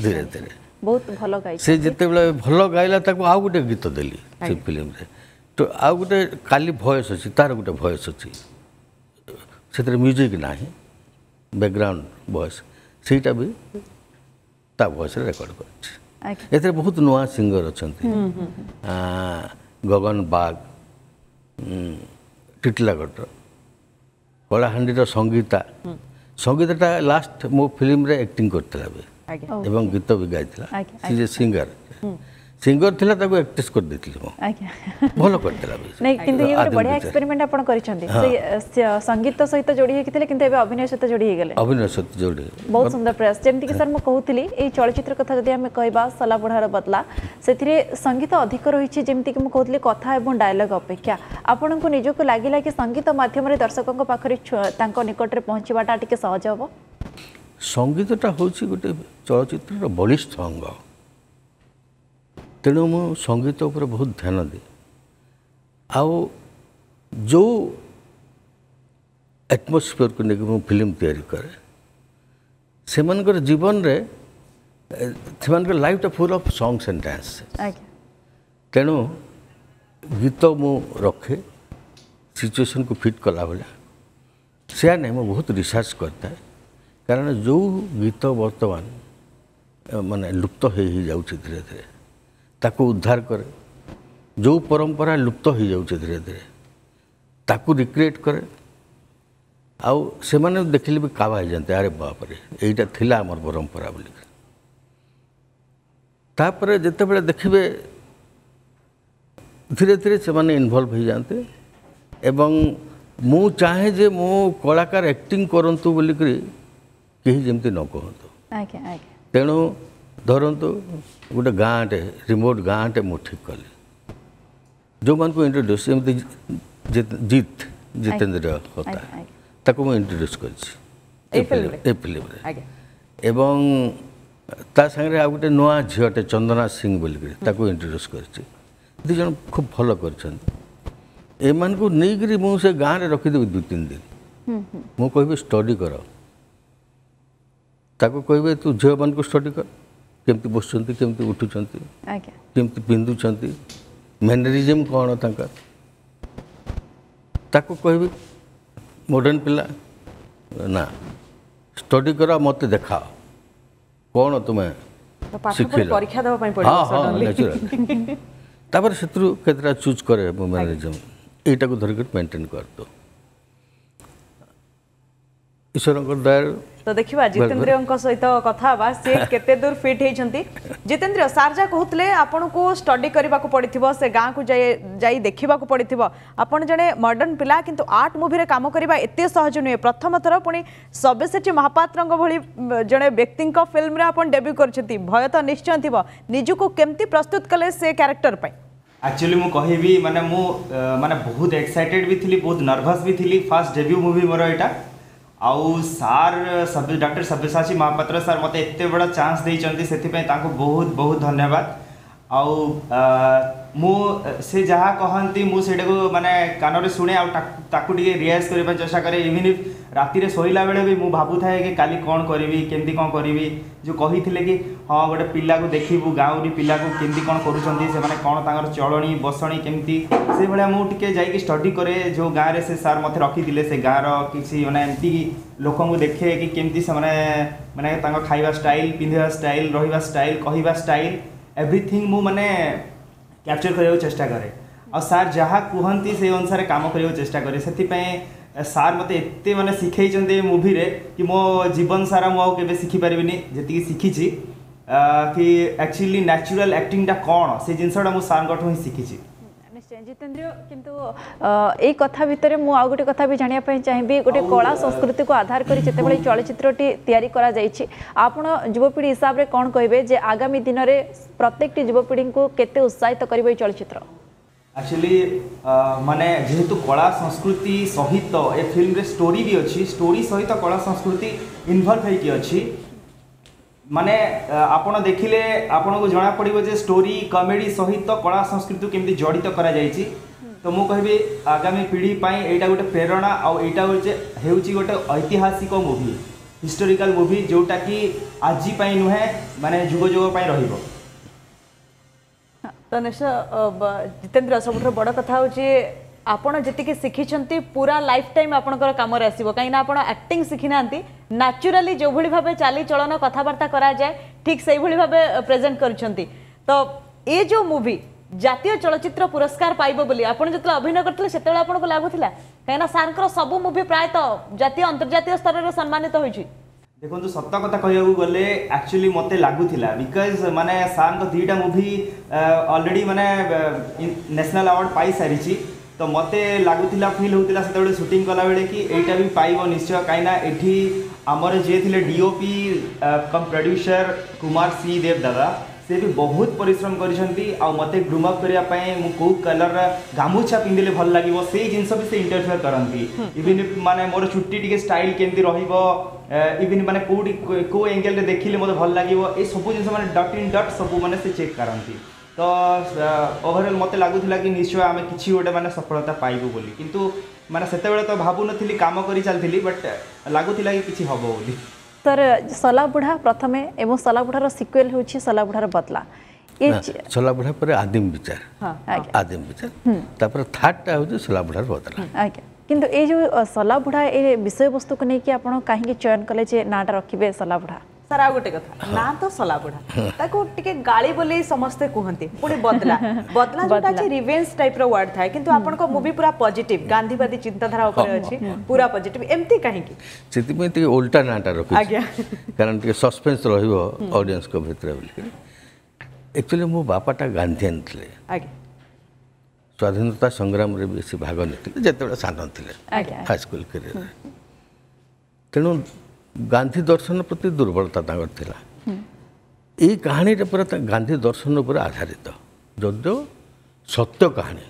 ଧୀରେ ଧୀରେ, ବହୁତ ଭଲ ଗାଇ। ସେ ଯେତେବେଳେ ଭଲ ଗାଇଲା ତାକୁ ଆଉ ଗୋଟେ ଗୀତ ଦେଲି ସେ ଫିଲ୍ମରେ। ତ ଆଉ ଗୋଟେ କାଲି ଭଏସ୍ ଅଛି, ତାର ଗୋଟେ ଭଏସ୍ ଅଛି, ସେଥିରେ ମ୍ୟୁଜିକ୍ ନାହିଁ, ବ୍ୟାକଗ୍ରାଉଣ୍ଡ ଭଏସ୍, ସେଇଟା ବି ତା ଭଏସ୍ରେ ରେକର୍ଡ଼ କରିଛି। ଏଥିରେ ବହୁତ ନୂଆ ସିଙ୍ଗର ଅଛନ୍ତି, ଗଗନ ବାଗ ଟିଟିଲାଗଡ଼ର, କଳାହାଣ୍ଡିର ସଙ୍ଗୀତା। ସଙ୍ଗୀତାଟା ଲାଷ୍ଟ ମୋ ଫିଲ୍ମରେ ଆକ୍ଟିଂ କରିଥିଲା ବି ଏବଂ ଗୀତ ବି ଗାଇଥିଲା। ସେ ଯେ ସିଙ୍ଗର ସିଙ୍ଗର ଥିଲା, ତାକୁ ଆକ୍ଟ୍ରେସ୍ କରିଦେଇଥିଲି ମୁଁ, ଭଲ କରିଥିଲା ବି। ନାଇଁ, କିନ୍ତୁ ଇଏ ଗୋଟେ ବଢିଆ ଏକ୍ସପେରିମେଣ୍ଟ ଆପଣ କରିଛନ୍ତି। ସେ ସଙ୍ଗୀତ ସହିତ ଯୋଡ଼ି ହେଇକି ଥିଲେ, କିନ୍ତୁ ଏବେ ଅଭିନୟ ସହିତ ଯୋଡ଼ି ହେଇଗଲେ। ଅଭିନୟ ସହିତ ଯୋଡ଼ି, ବହୁତ ସୁନ୍ଦର ପ୍ରୟାସ। ଯେମିତିକି ସାର୍ ମୁଁ କହୁଥିଲି, ଏଇ ଚଳଚ୍ଚିତ୍ର କଥା ଯଦି ଆମେ କହିବା ଶଲାବୁଢ଼ାର ବଦଲା, ସେଥିରେ ସଙ୍ଗୀତ ଅଧିକ ରହିଛି। ଯେମିତିକି ମୁଁ କହୁଥିଲି କଥା ଏବଂ ଡାୟଲଗ ଅପେକ୍ଷା ଆପଣଙ୍କୁ ନିଜକୁ ଲାଗିଲା କି ସଙ୍ଗୀତ ମାଧ୍ୟମରେ ଦର୍ଶକଙ୍କ ପାଖରେ ତାଙ୍କ ନିକଟରେ ପହଞ୍ଚିବାଟା ଟିକେ ସହଜ ହେବ? ସଙ୍ଗୀତଟା ହେଉଛି ଗୋଟେ ଚଳଚ୍ଚିତ୍ରର ବଳିଷ୍ଠ ଅଙ୍ଗ। ତେଣୁ ମୁଁ ସଙ୍ଗୀତ ଉପରେ ବହୁତ ଧ୍ୟାନ ଦିଏ। ଆଉ ଯେଉଁ ଆଟମୋସ୍ଫିୟରକୁ ନେଇକି ମୁଁ ଫିଲ୍ମ ତିଆରି କରେ, ସେମାନଙ୍କର ଜୀବନରେ ସେମାନଙ୍କର ଲାଇଫଟା full of songs and dance. ତେଣୁ ଗୀତ ମୁଁ ରଖେ ସିଚୁଏସନ୍କୁ ଫିଟ୍ କଲା ଭଳିଆ। ସେୟା ନାହିଁ, ମୁଁ ବହୁତ ରିସର୍ଚ୍ଚ କରିଥାଏ, କାରଣ ଯେଉଁ ଗୀତ ବର୍ତ୍ତମାନ ମାନେ ଲୁପ୍ତ ହେଇଯାଉଛି ଧୀରେ ଧୀରେ, ତାକୁ ଉଦ୍ଧାର କରେ। ଯେଉଁ ପରମ୍ପରା ଲୁପ୍ତ ହେଇଯାଉଛି ଧୀରେ ଧୀରେ, ତାକୁ ରିକ୍ରିଏଟ୍ କରେ। ଆଉ ସେମାନେ ଦେଖିଲେ ବି କାବା ହେଇଯାନ୍ତି, ଆରେ ବାପରେ ଏଇଟା ଥିଲା ଆମର ପରମ୍ପରା ବୋଲିକି। ତାପରେ ଯେତେବେଳେ ଦେଖିବେ ଧୀରେ ଧୀରେ ସେମାନେ ଇନଭଲ୍ଭ ହେଇଯାଆନ୍ତି। ଏବଂ ମୁଁ ଚାହେଁ ଯେ ମୋ କଳାକାର ଆକ୍ଟିଂ କରନ୍ତୁ ବୋଲିକରି କେହି ଯେମିତି ନ କୁହନ୍ତୁ। ତେଣୁ ଧରନ୍ତୁ ଗୋଟେ ଗାଁଟେ, ରିମୋଟ୍ ଗାଁଟେ ମୁଁ ଠିକ୍ କଲି, ଯେଉଁମାନଙ୍କୁ ଇଣ୍ଟ୍ରୋଡ୍ୟୁସ୍, ଯେମିତି ଜିତ୍ ଜିତେନ୍ଦ୍ର ହୋତା, ତାକୁ ମୁଁ ଇଣ୍ଟ୍ରୋଡ୍ୟୁସ୍ କରିଛି ଏ ଫିଲ୍ମରେ। ଏବଂ ତା ସାଙ୍ଗରେ ଆଉ ଗୋଟେ ନୂଆ ଝିଅଟେ ଚନ୍ଦନା ସିଂ ବୋଲିକରି, ତାକୁ ଇଣ୍ଟ୍ରୋଡ୍ୟୁସ୍ କରିଛି। ଦୁଇ ଜଣ ଖୁବ୍ ଭଲ କରିଛନ୍ତି। ଏମାନଙ୍କୁ ନେଇକରି ମୁଁ ସେ ଗାଁରେ ରଖିଦେବି 2-3 ଦିନ। ମୁଁ କହିବି ଷ୍ଟଡି କର, ତାକୁ କହିବେ ତୁ ଝିଅମାନଙ୍କୁ ଷ୍ଟଡି କର, କେମିତି ବସୁଛନ୍ତି, କେମିତି ଉଠୁଛନ୍ତି, କେମିତି ପିନ୍ଧୁଛନ୍ତି, ମ୍ୟାନେରିଜିମ୍ କ'ଣ ତାଙ୍କର। ତାକୁ କହିବି ମଡ଼ର୍ଣ୍ଣ ପିଲା ନା, ଷ୍ଟଡି କର, ମୋତେ ଦେଖାଅ କ'ଣ ତୁମେ ଶିଖିଲ। ହଁ ହଁ, ନ୍ୟାଚୁରାଲ। ତାପରେ ସେଥିରୁ କେତେଟା ଚୁଜ୍ କରେ ମୁଁ ମ୍ୟାନେରିଜିମ୍, ଏଇଟାକୁ ଧରିକରି ମେଣ୍ଟେନ୍ କରିଦେଉ ଈଶ୍ୱରଙ୍କ ଦୟାରୁ। ତ ଦେଖିବା ଜିତେନ୍ଦ୍ରିୟଙ୍କ ସହିତ କଥା ହେବା, ସେ କେତେ ଦୂର ଫିଟ୍ ହେଇଛନ୍ତି। ଜିତେନ୍ଦ୍ରିୟ ସାର୍ ଯାହା କହୁଥିଲେ, ଆପଣଙ୍କୁ ଷ୍ଟଡି କରିବାକୁ ପଡ଼ିଥିବ, ସେ ଗାଁକୁ ଯାଇ ଦେଖିବାକୁ ପଡ଼ିଥିବ। ଆପଣ ଜଣେ ମଡର୍ଣ୍ଣ ପିଲା, କିନ୍ତୁ ଆର୍ଟ ମୁଭିରେ କାମ କରିବା ଏତେ ସହଜ ନୁହେଁ। ପ୍ରଥମ ଥର ପୁଣି ସବ୍ୟସାଚୀ ମହାପାତ୍ରଙ୍କ ଭଳି ଜଣେ ବ୍ୟକ୍ତିଙ୍କ ଫିଲ୍ମରେ ଆପଣ ଡେବ୍ୟୁ କରିଛନ୍ତି, ଭୟ ତ ନିଶ୍ଚୟ ଥିବ। ନିଜକୁ କେମିତି ପ୍ରସ୍ତୁତ କଲେ ସେ କ୍ୟାରେକ୍ଟର ପାଇଁ? ଆକ୍ଚୁଆଲି ମୁଁ କହିବି ମାନେ ମୁଁ ମାନେ ବହୁତ ଏକ୍ସାଇଟେଡ୍ ବି ଥିଲି, ବହୁତ ନର୍ଭସ୍ ବି ଥିଲି। ଫାର୍ଷ୍ଟ ଡେବ୍ୟୁ ମୁଭି ମୋର ଏଇଟା। ଆଉ sir doctor Sabyasachi Mohapatra sir ମୋତେ ଏତେ ବଡ଼ ଚାନ୍ସ ଦେଇଛନ୍ତି, ସେଥିପାଇଁ ତାଙ୍କୁ ବହୁତ ବହୁତ ଧନ୍ୟବାଦ। ଆଉ ମୁଁ ସେ ଯାହା କହନ୍ତି ମୁଁ ସେଇଟାକୁ ମାନେ କାନରେ ଶୁଣେ, ଆଉ ତାକୁ ଟିକେ ରିଆଜ କରିବା ପାଇଁ ଚେଷ୍ଟା କରେ। ଇଭିନ୍ if ରାତିରେ ଶୋଇଲା ବେଳେ ବି ମୁଁ ଭାବୁଥାଏ କି କାଲି କ'ଣ କରିବି, କେମିତି କ'ଣ କରିବି। ଯେଉଁ କହିଥିଲେ କି ହଁ ଗୋଟେ ପିଲାକୁ ଦେଖିବୁ, ଗାଉଁଲି ପିଲାକୁ କେମିତି କ'ଣ କରୁଛନ୍ତି ସେମାନେ, କ'ଣ ତାଙ୍କର ଚଳଣି ବସଣି କେମିତି, ସେଇଭଳିଆ ମୁଁ ଟିକେ ଯାଇକି ଷ୍ଟଡି କରେ। ଯେଉଁ ଗାଁରେ ସେ ସାର୍ ମୋତେ ରଖିଥିଲେ, ସେ ଗାଁର କିଛି ମାନେ ଏମିତି ଲୋକଙ୍କୁ ଦେଖେ କି କେମିତି ସେମାନେ ମାନେ ତାଙ୍କ ଖାଇବା ଷ୍ଟାଇଲ୍, ପିନ୍ଧିବା ଷ୍ଟାଇଲ୍, ରହିବା ଷ୍ଟାଇଲ୍, କହିବା ଷ୍ଟାଇଲ୍, ଏଭ୍ରିଥିଙ୍ଗ ମୁଁ ମାନେ କ୍ୟାପଚର୍ କରିବାକୁ ଚେଷ୍ଟା କରେ। ଆଉ ସାର୍ ଯାହା କୁହନ୍ତି ସେଇ ଅନୁସାରେ କାମ କରିବାକୁ ଚେଷ୍ଟା କରେ। ସେଥିପାଇଁ ସାର୍ ମୋତେ ଏତେ ମାନେ ଶିଖେଇଛନ୍ତି ଏ ମୁଭିରେ କି ମୋ ଜୀବନ ସାରା ମୁଁ ଆଉ କେବେ ଶିଖିପାରିବିନି ଯେତିକି ଶିଖିଛି, କି ଆକ୍ଚୁଆଲି ନ୍ୟାଚୁରାଲ୍ ଆକ୍ଟିଂଟା କ'ଣ, ସେ ଜିନିଷଟା ମୁଁ ସାର୍ଙ୍କଠୁ ହିଁ ଶିଖିଛି। ନିଶ୍ଚୟ ଜିତେନ୍ଦ୍ରିୟ, କିନ୍ତୁ ଏଇ କଥା ଭିତରେ ମୁଁ ଆଉ ଗୋଟେ କଥା ବି ଜାଣିବା ପାଇଁ ଚାହିଁବି। ଗୋଟେ କଳା ସଂସ୍କୃତିକୁ ଆଧାର କରି ଯେତେବେଳେ ଚଳଚ୍ଚିତ୍ରଟି ତିଆରି କରାଯାଇଛି, ଆପଣ ଯୁବପିଢ଼ି ହିସାବରେ କ'ଣ କହିବେ ଯେ ଆଗାମୀ ଦିନରେ ପ୍ରତ୍ୟେକଟି ଯୁବପିଢ଼ିଙ୍କୁ କେତେ ଉତ୍ସାହିତ କରିବ ଏଇ ଚଳଚ୍ଚିତ୍ର? ଆକ୍ଚୁଆଲି ମାନେ ଯେହେତୁ କଳା ସଂସ୍କୃତି ସହିତ ଏ ଫିଲ୍ମରେ ଷ୍ଟୋରି ବି ଅଛି, ଷ୍ଟୋରି ସହିତ କଳା ସଂସ୍କୃତି ଇନଭଲ୍ଭ ହେଇକି ଅଛି। ମାନେ ଆପଣ ଦେଖିଲେ ଆପଣଙ୍କୁ ଜଣାପଡ଼ିବ ଯେ ଷ୍ଟୋରି କମେଡ଼ି ସହିତ କଳା ସଂସ୍କୃତିକୁ କେମିତି ଜଡ଼ିତ କରାଯାଇଛି। ତ ମୁଁ କହିବି ଆଗାମୀ ପିଢ଼ି ପାଇଁ ଏଇଟା ଗୋଟେ ପ୍ରେରଣା, ଆଉ ଏଇଟା ହେଉଛି ଗୋଟେ ଐତିହାସିକ ମୁଭି, ହିଷ୍ଟୋରିକାଲ ମୁଭି, ଯେଉଁଟାକି ଆଜି ପାଇଁ ନୁହେଁ, ମାନେ ଯୁଗ ଯୁଗ ପାଇଁ ରହିବ। ତ ନିଶ୍ଚୟ ଜିତେନ୍ଦ୍ର, ସବୁଠାରୁ ବଡ଼ କଥା ହେଉଛି ଆପଣ ଯେତିକି ଶିଖିଛନ୍ତି ପୁରା ଲାଇଫ୍ ଟାଇମ୍ ଆପଣଙ୍କର କାମରେ ଆସିବ, କାହିଁକିନା ଆପଣ ଆକ୍ଟିଂ ଶିଖିନାହାନ୍ତି। ନ୍ୟାଚୁରାଲି ଯେଉଁଭଳି ଭାବେ ଚାଲିଚଳନ କଥାବାର୍ତ୍ତା କରାଯାଏ, ଠିକ୍ ସେଇଭଳି ଭାବେ ପ୍ରେଜେଣ୍ଟ କରିଛନ୍ତି। ତ ଏ ଯେଉଁ ମୁଭି ଜାତୀୟ ଚଳଚ୍ଚିତ୍ର ପୁରସ୍କାର ପାଇବ ବୋଲି ଆପଣ ଯେତେବେଳେ ଅଭିନୟ କରିଥିଲେ ସେତେବେଳେ ଆପଣଙ୍କୁ ଲାଗୁଥିଲା? କାହିଁକିନା ସାର୍ଙ୍କର ସବୁ ମୁଭି ପ୍ରାୟତଃ ଜାତୀୟ ଅନ୍ତର୍ଜାତୀୟ ସ୍ତରରେ ସମ୍ମାନିତ ହୋଇଛି। ଦେଖନ୍ତୁ, ସତ କଥା କହିବାକୁ ଗଲେ ଆକ୍ଚୁଆଲି ମୋତେ ଲାଗୁଥିଲା, because ମାନେ ସାର୍ଙ୍କ 2ଟା ମୁଭି ଅଲରେଡ଼ି ମାନେ ନ୍ୟାସନାଲ୍ ଆୱାର୍ଡ଼ ପାଇସାରିଛି। ତ ମୋତେ ଲାଗୁଥିଲା, ଫିଲ୍ ହେଉଥିଲା ସେତେବେଳେ ସୁଟିଂ କଲାବେଳେ କି ଏଇଟା ବି ପାଇବ ନିଶ୍ଚୟ, କାହିଁକିନା ଏଠି ଆମର ଯିଏ ଥିଲେ DOP cum producer Kumar C Deb ଦାଦା, ସେ ବି ବହୁତ ପରିଶ୍ରମ କରିଛନ୍ତି ଆଉ ମୋତେ ଗ୍ରୁମ୍ ଅପ୍ କରିବା ପାଇଁ ମୁଁ କେଉଁ କଲର୍ର ଗାମୁଛା ପିନ୍ଧିଲେ ଭଲ ଲାଗିବ ସେଇ ଜିନିଷ ବି ସେ ଇଣ୍ଟରଫିୟର କରନ୍ତି। ଇଭିନ୍ ମାନେ ମୋର ଚୁଟି ଟିକେ ଷ୍ଟାଇଲ୍ କେମିତି ରହିବ, ଇଭିନ୍ ମାନେ କେଉଁଠି କେଉଁ ଏଙ୍ଗେଲରେ ଦେଖିଲେ ମୋତେ ଭଲ ଲାଗିବ, ଏ ସବୁ ଜିନିଷ ମାନେ ଡଟ୍ ଇନ୍ ଡଟ୍ ସବୁ ମାନେ ସେ ଚେକ୍ କରନ୍ତି। ତ ଓଭରଅଲ୍ ମୋତେ ଲାଗୁଥିଲା କି ନିଶ୍ଚୟ ଆମେ କିଛି ଗୋଟେ ମାନେ ସଫଳତା ପାଇବୁ ବୋଲି, କିନ୍ତୁ ମାନେ ସେତେବେଳେ ତ ଭାବୁନଥିଲି, କାମ କରି ଚାଲିଥିଲି, ବଟ୍ ଲାଗୁଥିଲା କି କିଛି ହେବ ବୋଲି। ସାର୍, ସଲାବୁଢ଼ା ପ୍ରଥମେ ଏବଂ ସଲାବୁଢ଼ାର ସିକ୍ୱେଲ୍ ହେଉଛି ସଲାବୁଢ଼ାର ବଦଲା। ସଲାବୁଢ଼ା ପରେ ଆଦିମ ବିଚାର, ଆଦିମ ବିଚାର, ତାପରେ ଥାର୍ଡଟା ହେଉଛି ସଲାବୁଢ଼ାର ବଦଲା। ଆଜ୍ଞା, କିନ୍ତୁ ଏଇ ଯେଉଁ ସଲାବୁଢ଼ା ଏ ବିଷୟବସ୍ତୁକୁ ନେଇକି ଆପଣ କାହିଁକି ଚୟନ କଲେ ଯେ ନାଁଟା ରଖିବେ ସଲାବୁଢ଼ା? ସାର୍, ଆଉ ଗୋଟେ କଥା, ନାଁ ତ ସଲାବୁଢ଼ା, ତାକୁ ଟିକେ ଗାଳି ବୋଲି ସମସ୍ତେ କୁହନ୍ତି, ପୁଣି ବଦଲା, ବଦଲା ଯୋଉଟା ଅଛି ରିଭେଞ୍ଜ ଟାଇପ୍ର ୱାର୍ଡ ଥାଏ, କିନ୍ତୁ ଆପଣଙ୍କ ମୁଭି ପୁରା ପଜିଟିଭ, ଗାନ୍ଧୀବାଦୀ ଚିନ୍ତାଧାରା ଉପରେ ଅଛି, ପୁରା ପଜିଟିଭ, ଏମିତି କାହିଁକି? ସେଥିପାଇଁ ଟିକେ ଓଲଟା ନାଁଟା ରଖିଛି। ଆଜ୍ଞା, କାରଣ ଟିକେ ସସ୍ପେନ୍ସ ରହିବ ଅଡ଼ିଏନ୍ସଙ୍କ ଭିତରେ ବୋଲିକିରି। ଆକ୍ଚୁଆଲି ମୋ ବାପାଟା ଗାନ୍ଧିଆନ ଥିଲେ। ଆଜ୍ଞା, ସ୍ୱାଧୀନତା ସଂଗ୍ରାମରେ ବେଶୀ ଭାଗ ନେଇଥିଲେ ଯେତେବେଳେ ସାନ ଥିଲେ, ହାଇସ୍କୁଲ କ୍ୟାରିୟରରେ। ତେଣୁ ଗାନ୍ଧୀ ଦର୍ଶନ ପ୍ରତି ଦୁର୍ବଳତା ତାଙ୍କର ଥିଲା। ଏଇ କାହାଣୀଟା ପୁରା ଗାନ୍ଧୀ ଦର୍ଶନ ଉପରେ ଆଧାରିତ, ଯଦିଓ ସତ୍ୟ କାହାଣୀ,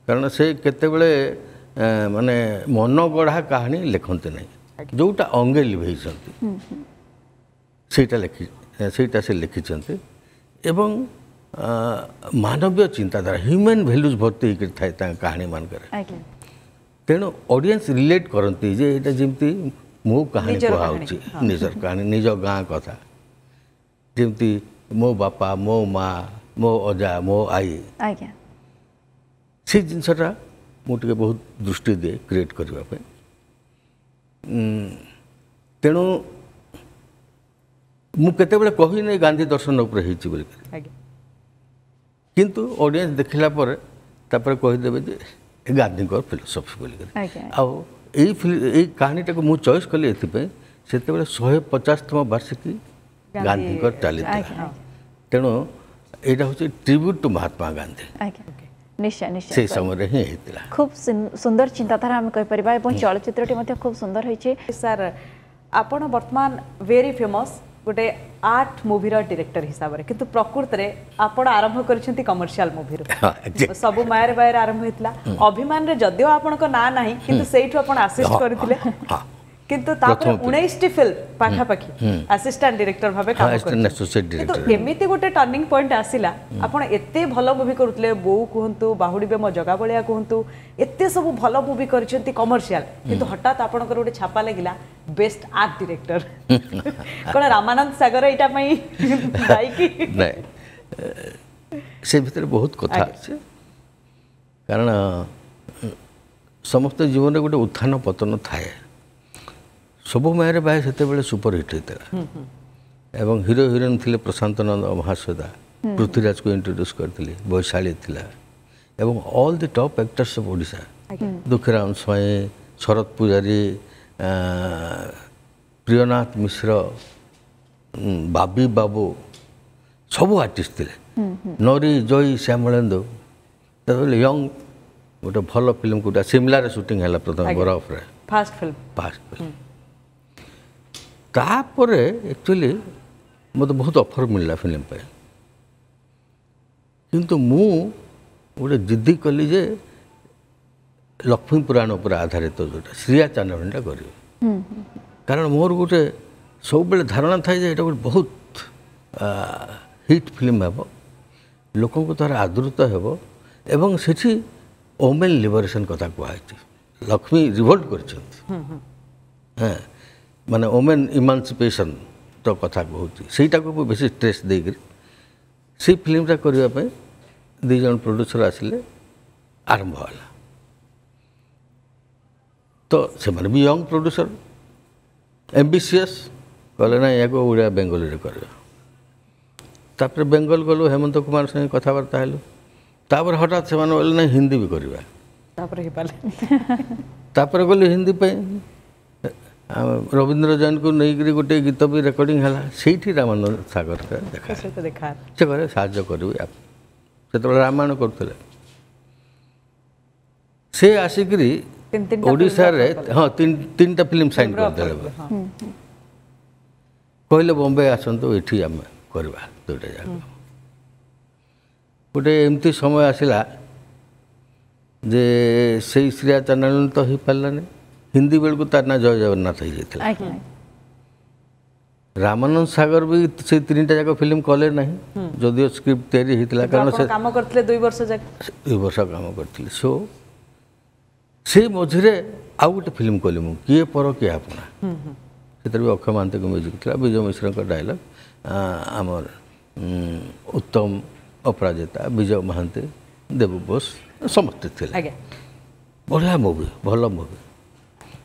କାରଣ ସେ କେତେବେଳେ ମାନେ ମନଗଢ଼ା କାହାଣୀ ଲେଖନ୍ତି ନାହିଁ, ଯେଉଁଟା ଅଙ୍ଗେ ଲିଭେଇଛନ୍ତି ସେଇଟା ଲେଖି ସେଇଟା ସେ ଲେଖିଛନ୍ତି। ଏବଂ ମାନବୀୟ ଚିନ୍ତାଧାରା, ହ୍ୟୁମାନ୍ ଭ୍ୟାଲୁଜ୍ ଭର୍ତ୍ତି ହେଇକରି ଥାଏ ତାଙ୍କ କାହାଣୀମାନଙ୍କରେ। ତେଣୁ ଅଡ଼ିଏନ୍ସ ରିଲେଟ୍ କରନ୍ତି ଯେ ଏଇଟା ଯେମିତି ମୋ କାହାଣୀ କୁହାହେଉଛି, ନିଜର କାହାଣୀ, ନିଜ ଗାଁ କଥା, ଯେମିତି ମୋ ବାପା, ମୋ ମା, ମୋ ଅଜା, ମୋ ଆଈ, ସେଇ ଜିନିଷଟା ମୁଁ ଟିକେ ବହୁତ ଦୃଷ୍ଟି ଦିଏ କ୍ରିଏଟ୍ କରିବା ପାଇଁ। ତେଣୁ ମୁଁ କେତେବେଳେ କହିନି ଗାନ୍ଧୀ ଦର୍ଶନ ଉପରେ ହେଇଛି ବୋଲିକରି, କିନ୍ତୁ ଅଡ଼ିଏନ୍ସ ଦେଖିଲା ପରେ ତାପରେ କହିଦେବେ ଯେ ଗାନ୍ଧୀଙ୍କର ଫିଲୋସଫି ବୋଲିକରି। ଆଉ ଏଇ ଏଇ କାହାଣୀଟାକୁ ମୁଁ ଚଏସ୍ କଲି ଏଥିପାଇଁ, ସେତେବେଳେ 150ତମ ବାର୍ଷିକୀ ଗାନ୍ଧୀଙ୍କର ଚାଲିଥିଲା, ତେଣୁ ଏଇଟା ହେଉଛି ଟ୍ରିବ୍ୟୁଟ୍ ଟୁ ମହାତ୍ମା ଗାନ୍ଧୀ। ନିଶ୍ଚୟ ନିଶ୍ଚୟ, ସେଇ ସମୟରେ ହିଁ ହେଇଥିଲା। ଖୁବ୍ ସୁନ୍ଦର ଚିନ୍ତାଧାରା ଆମେ କହିପାରିବା ଏବଂ ଚଳଚ୍ଚିତ୍ରଟି ମଧ୍ୟ ଖୁବ୍ ସୁନ୍ଦର ହେଇଛି। ସାର୍, ଆପଣ ବର୍ତ୍ତମାନ ଭେରି ଫେମସ୍ ଗୋଟେ ଆର୍ଟ ମୁଭିର ଡିରେକ୍ଟର ହିସାବରେ, କିନ୍ତୁ ପ୍ରକୃତରେ ଆପଣ ଆରମ୍ଭ କରିଛନ୍ତି କମର୍ସିଆଲ ମୁଭିରୁ। ସବୁ ମାୟରେ ବାୟରେ ଆରମ୍ଭ ହେଇଥିଲା, ଅଭିମାନରେ ଯଦିଓ ଆପଣଙ୍କ ନାଁ ନାହିଁ କିନ୍ତୁ ସେଇଠୁ ଆପଣ ଆସିଷ୍ଟ କରିଥିଲେ, କିନ୍ତୁ ତାପରେ 19ଟି ଫିଲ୍ମ ପାଖାପାଖି ଆସିଷ୍ଟାଣ୍ଟ ଡିରେକ୍ଟର ଭାବେ କାମ କରିଛନ୍ତି। କିନ୍ତୁ ଏମିତି ଗୋଟେ ଟର୍ଣ୍ଣିଂ ପଏଣ୍ଟ ଆସିଲା, ଆପଣ ଏତେ ଭଲ ମୁଭି କରୁଥିଲେ, ବୋଉ କୁହନ୍ତୁ, ବାହୁଡ଼ିବେ ମୋ ଜଗା ବଳିଆ କୁହନ୍ତୁ, ଏତେ ସବୁ ଭଲ ମୁଭି କରିଛନ୍ତି କମର୍ସିଆଲ, କିନ୍ତୁ ହଠାତ୍ ଆପଣଙ୍କର ଗୋଟେ ଛାପା ଲାଗିଲା ବେଷ୍ଟ ଆର୍ଟ ଡିରେକ୍ଟର। କ'ଣ ରାମାନନ୍ଦ ସାଗର ଏଇଟା ପାଇଁ ଦାୟୀ କି? ନାଇଁ, ସେ ଭିତରେ ବହୁତ କଥା ଅଛି, କାରଣ ସମସ୍ତ ଜୀବନରେ ଗୋଟେ ଉତ୍ଥାନ ପତନ ଥାଏ। ସବୁ ମାୟରେ ବାଏ ସେତେବେଳେ ସୁପରହିଟ୍ ହେଇଥିଲା ଏବଂ ହିରୋ ହିରୋଇନ୍ ଥିଲେ ପ୍ରଶାନ୍ତ ନନ୍ଦ, ମହାଶ୍ୱେତା, ପୃଥ୍ୱୀରାଜକୁ ଇଣ୍ଟ୍ରୋଡ୍ୟୁସ୍ କରିଥିଲେ, ବୈଶାଳୀ ଥିଲା, ଏବଂ all the top actors of Odisha, Dukhiram Swain, Sarat Pujari, Priyanath Mishra, Babi Babu, ସବୁ ଆର୍ଟିଷ୍ଟ ଥିଲେ, ନରି, ଜୟୀ, ଶ୍ୟାମଳେନ୍ଦୁ। ସେତେବେଳେ ୟଙ୍ଗ ଗୋଟେ ଭଲ ଫିଲ୍ମ କୋଉଟା ସିମଲାରେ ସୁଟିଂ ହେଲା ପ୍ରଥମେ, ବରଫରେ, ଫାଷ୍ଟ ଫିଲ୍ମ, ଫାଷ୍ଟ ଫିଲ୍ମ। ତାପରେ ଆକ୍ଚୁଆଲି ମୋତେ ବହୁତ ଅଫର୍ ମିଳିଲା ଫିଲ୍ମ ପାଇଁ, କିନ୍ତୁ ମୁଁ ଗୋଟେ ଜିଦ୍ଦି କଲି ଯେ ଲକ୍ଷ୍ମୀ ପୁରାଣ ଉପରେ ଆଧାରିତ ଯେଉଁଟା ଶ୍ରୀୟା ଚାନ୍ଦଣୀଟା କରିବି, କାରଣ ମୋର ଗୋଟେ ସବୁବେଳେ ଧାରଣା ଥାଏ ଯେ ଏଇଟା ଗୋଟେ ବହୁତ ହିଟ୍ ଫିଲ୍ମ ହେବ, ଲୋକଙ୍କ ଦ୍ୱାରା ଆଦୃତ ହେବ, ଏବଂ ସେଠି ଓମେନ୍ ଲିବରେସନ୍ କଥା କୁହାହେଇଛି, ଲକ୍ଷ୍ମୀ ରିଭୋଲ୍ଟ କରିଛନ୍ତି, ହଁ, ମାନେ ଓମେନ୍ ଇମାନ୍ସିପେସନ୍ର କଥା କହୁଛି, ସେଇଟାକୁ ମୁଁ ବେଶୀ ଷ୍ଟ୍ରେସ୍ ଦେଇକରି ସେଇ ଫିଲ୍ମଟା କରିବା ପାଇଁ 2 ଜଣ ପ୍ରଡ୍ୟୁସର ଆସିଲେ, ଆରମ୍ଭ ହେଲା। ତ ସେମାନେ ବି ୟଙ୍ଗ ପ୍ରଡ୍ୟୁସର, ଏମ୍ବିସିଏସ୍, କହିଲେ ନା ଏହାକୁ ଓଡ଼ିଆ ବେଙ୍ଗଲୀରେ କରିବା। ତାପରେ ବେଙ୍ଗଲ ଗଲୁ, ହେମନ୍ତ କୁମାର ସାଙ୍ଗେ କଥାବାର୍ତ୍ତା ହେଲୁ, ତାପରେ ହଠାତ୍ ସେମାନେ କହିଲେ ନାଇଁ ହିନ୍ଦୀ ବି କରିବା, ତାପରେ ହେଇପାରିଲେ, ତାପରେ ଗଲି ହିନ୍ଦୀ ପାଇଁ ରବୀନ୍ଦ୍ର ଜୈନକୁ ନେଇକରି ଗୋଟେ ଗୀତ ବି ରେକର୍ଡ଼ିଂ ହେଲା, ସେଇଠି ରାମାନନ୍ଦ ସାଗର ଦେଖା, ସେ କହିଲେ ସାହାଯ୍ୟ କରିବି। ସେତେବେଳେ ରାମାୟଣ କରୁଥିଲେ ସେ, ଆସିକରି ଓଡ଼ିଶାରେ ହଁ 3ଟା ଫିଲ୍ମ ସାଇନ୍ କରିଦେଲେ, କହିଲେ ବମ୍ବେ ଆସନ୍ତୁ, ଏଠି ଆମେ କରିବା 2ଟା ଯାକ। ଗୋଟେ ଏମିତି ସମୟ ଆସିଲା ଯେ ସେଇ ଶ୍ରେୟା ଚାଣ୍ଡାଳିନୀ ତ ହେଇପାରିଲାନି, ହିନ୍ଦୀ ବେଳକୁ ତାର ନାଁ ଜୟ ଜଗନ୍ନାଥ ହେଇଯାଇଥିଲା। ରାମାନନ୍ଦ ସାଗର ବି ସେଇ 3ଟା ଯାକ ଫିଲ୍ମ କଲେ ନାହିଁ, ଯଦିଓ ସ୍କ୍ରିପ୍ଟ ତିଆରି ହେଇଥିଲା, କାରଣ ସେ କାମ କରିଥିଲେ 2 ବର୍ଷ ଯାକ, 2 ବର୍ଷ କାମ କରିଥିଲେ। ସୋ ସେଇ ମଝିରେ ଆଉ ଗୋଟେ ଫିଲ୍ମ କଲି ମୁଁ, କିଏ ପର କିଏ ଆପଣା। ସେଥିରେ ବି ଅକ୍ଷୟ ମହାନ୍ତିଙ୍କ ମ୍ୟୁଜିକ୍ ଥିଲା, ବିଜୟ ମିଶ୍ରଙ୍କ ଡାଇଲଗ୍, ଆମର ଉତ୍ତମ ଅପରାଜିତା, ବିଜୟ ମହାନ୍ତି, ଦେବୁ ବୋଷ ସମସ୍ତେ ଥିଲେ। ବଢ଼ିଆ ମୁଭି, ଭଲ ମୁଭି।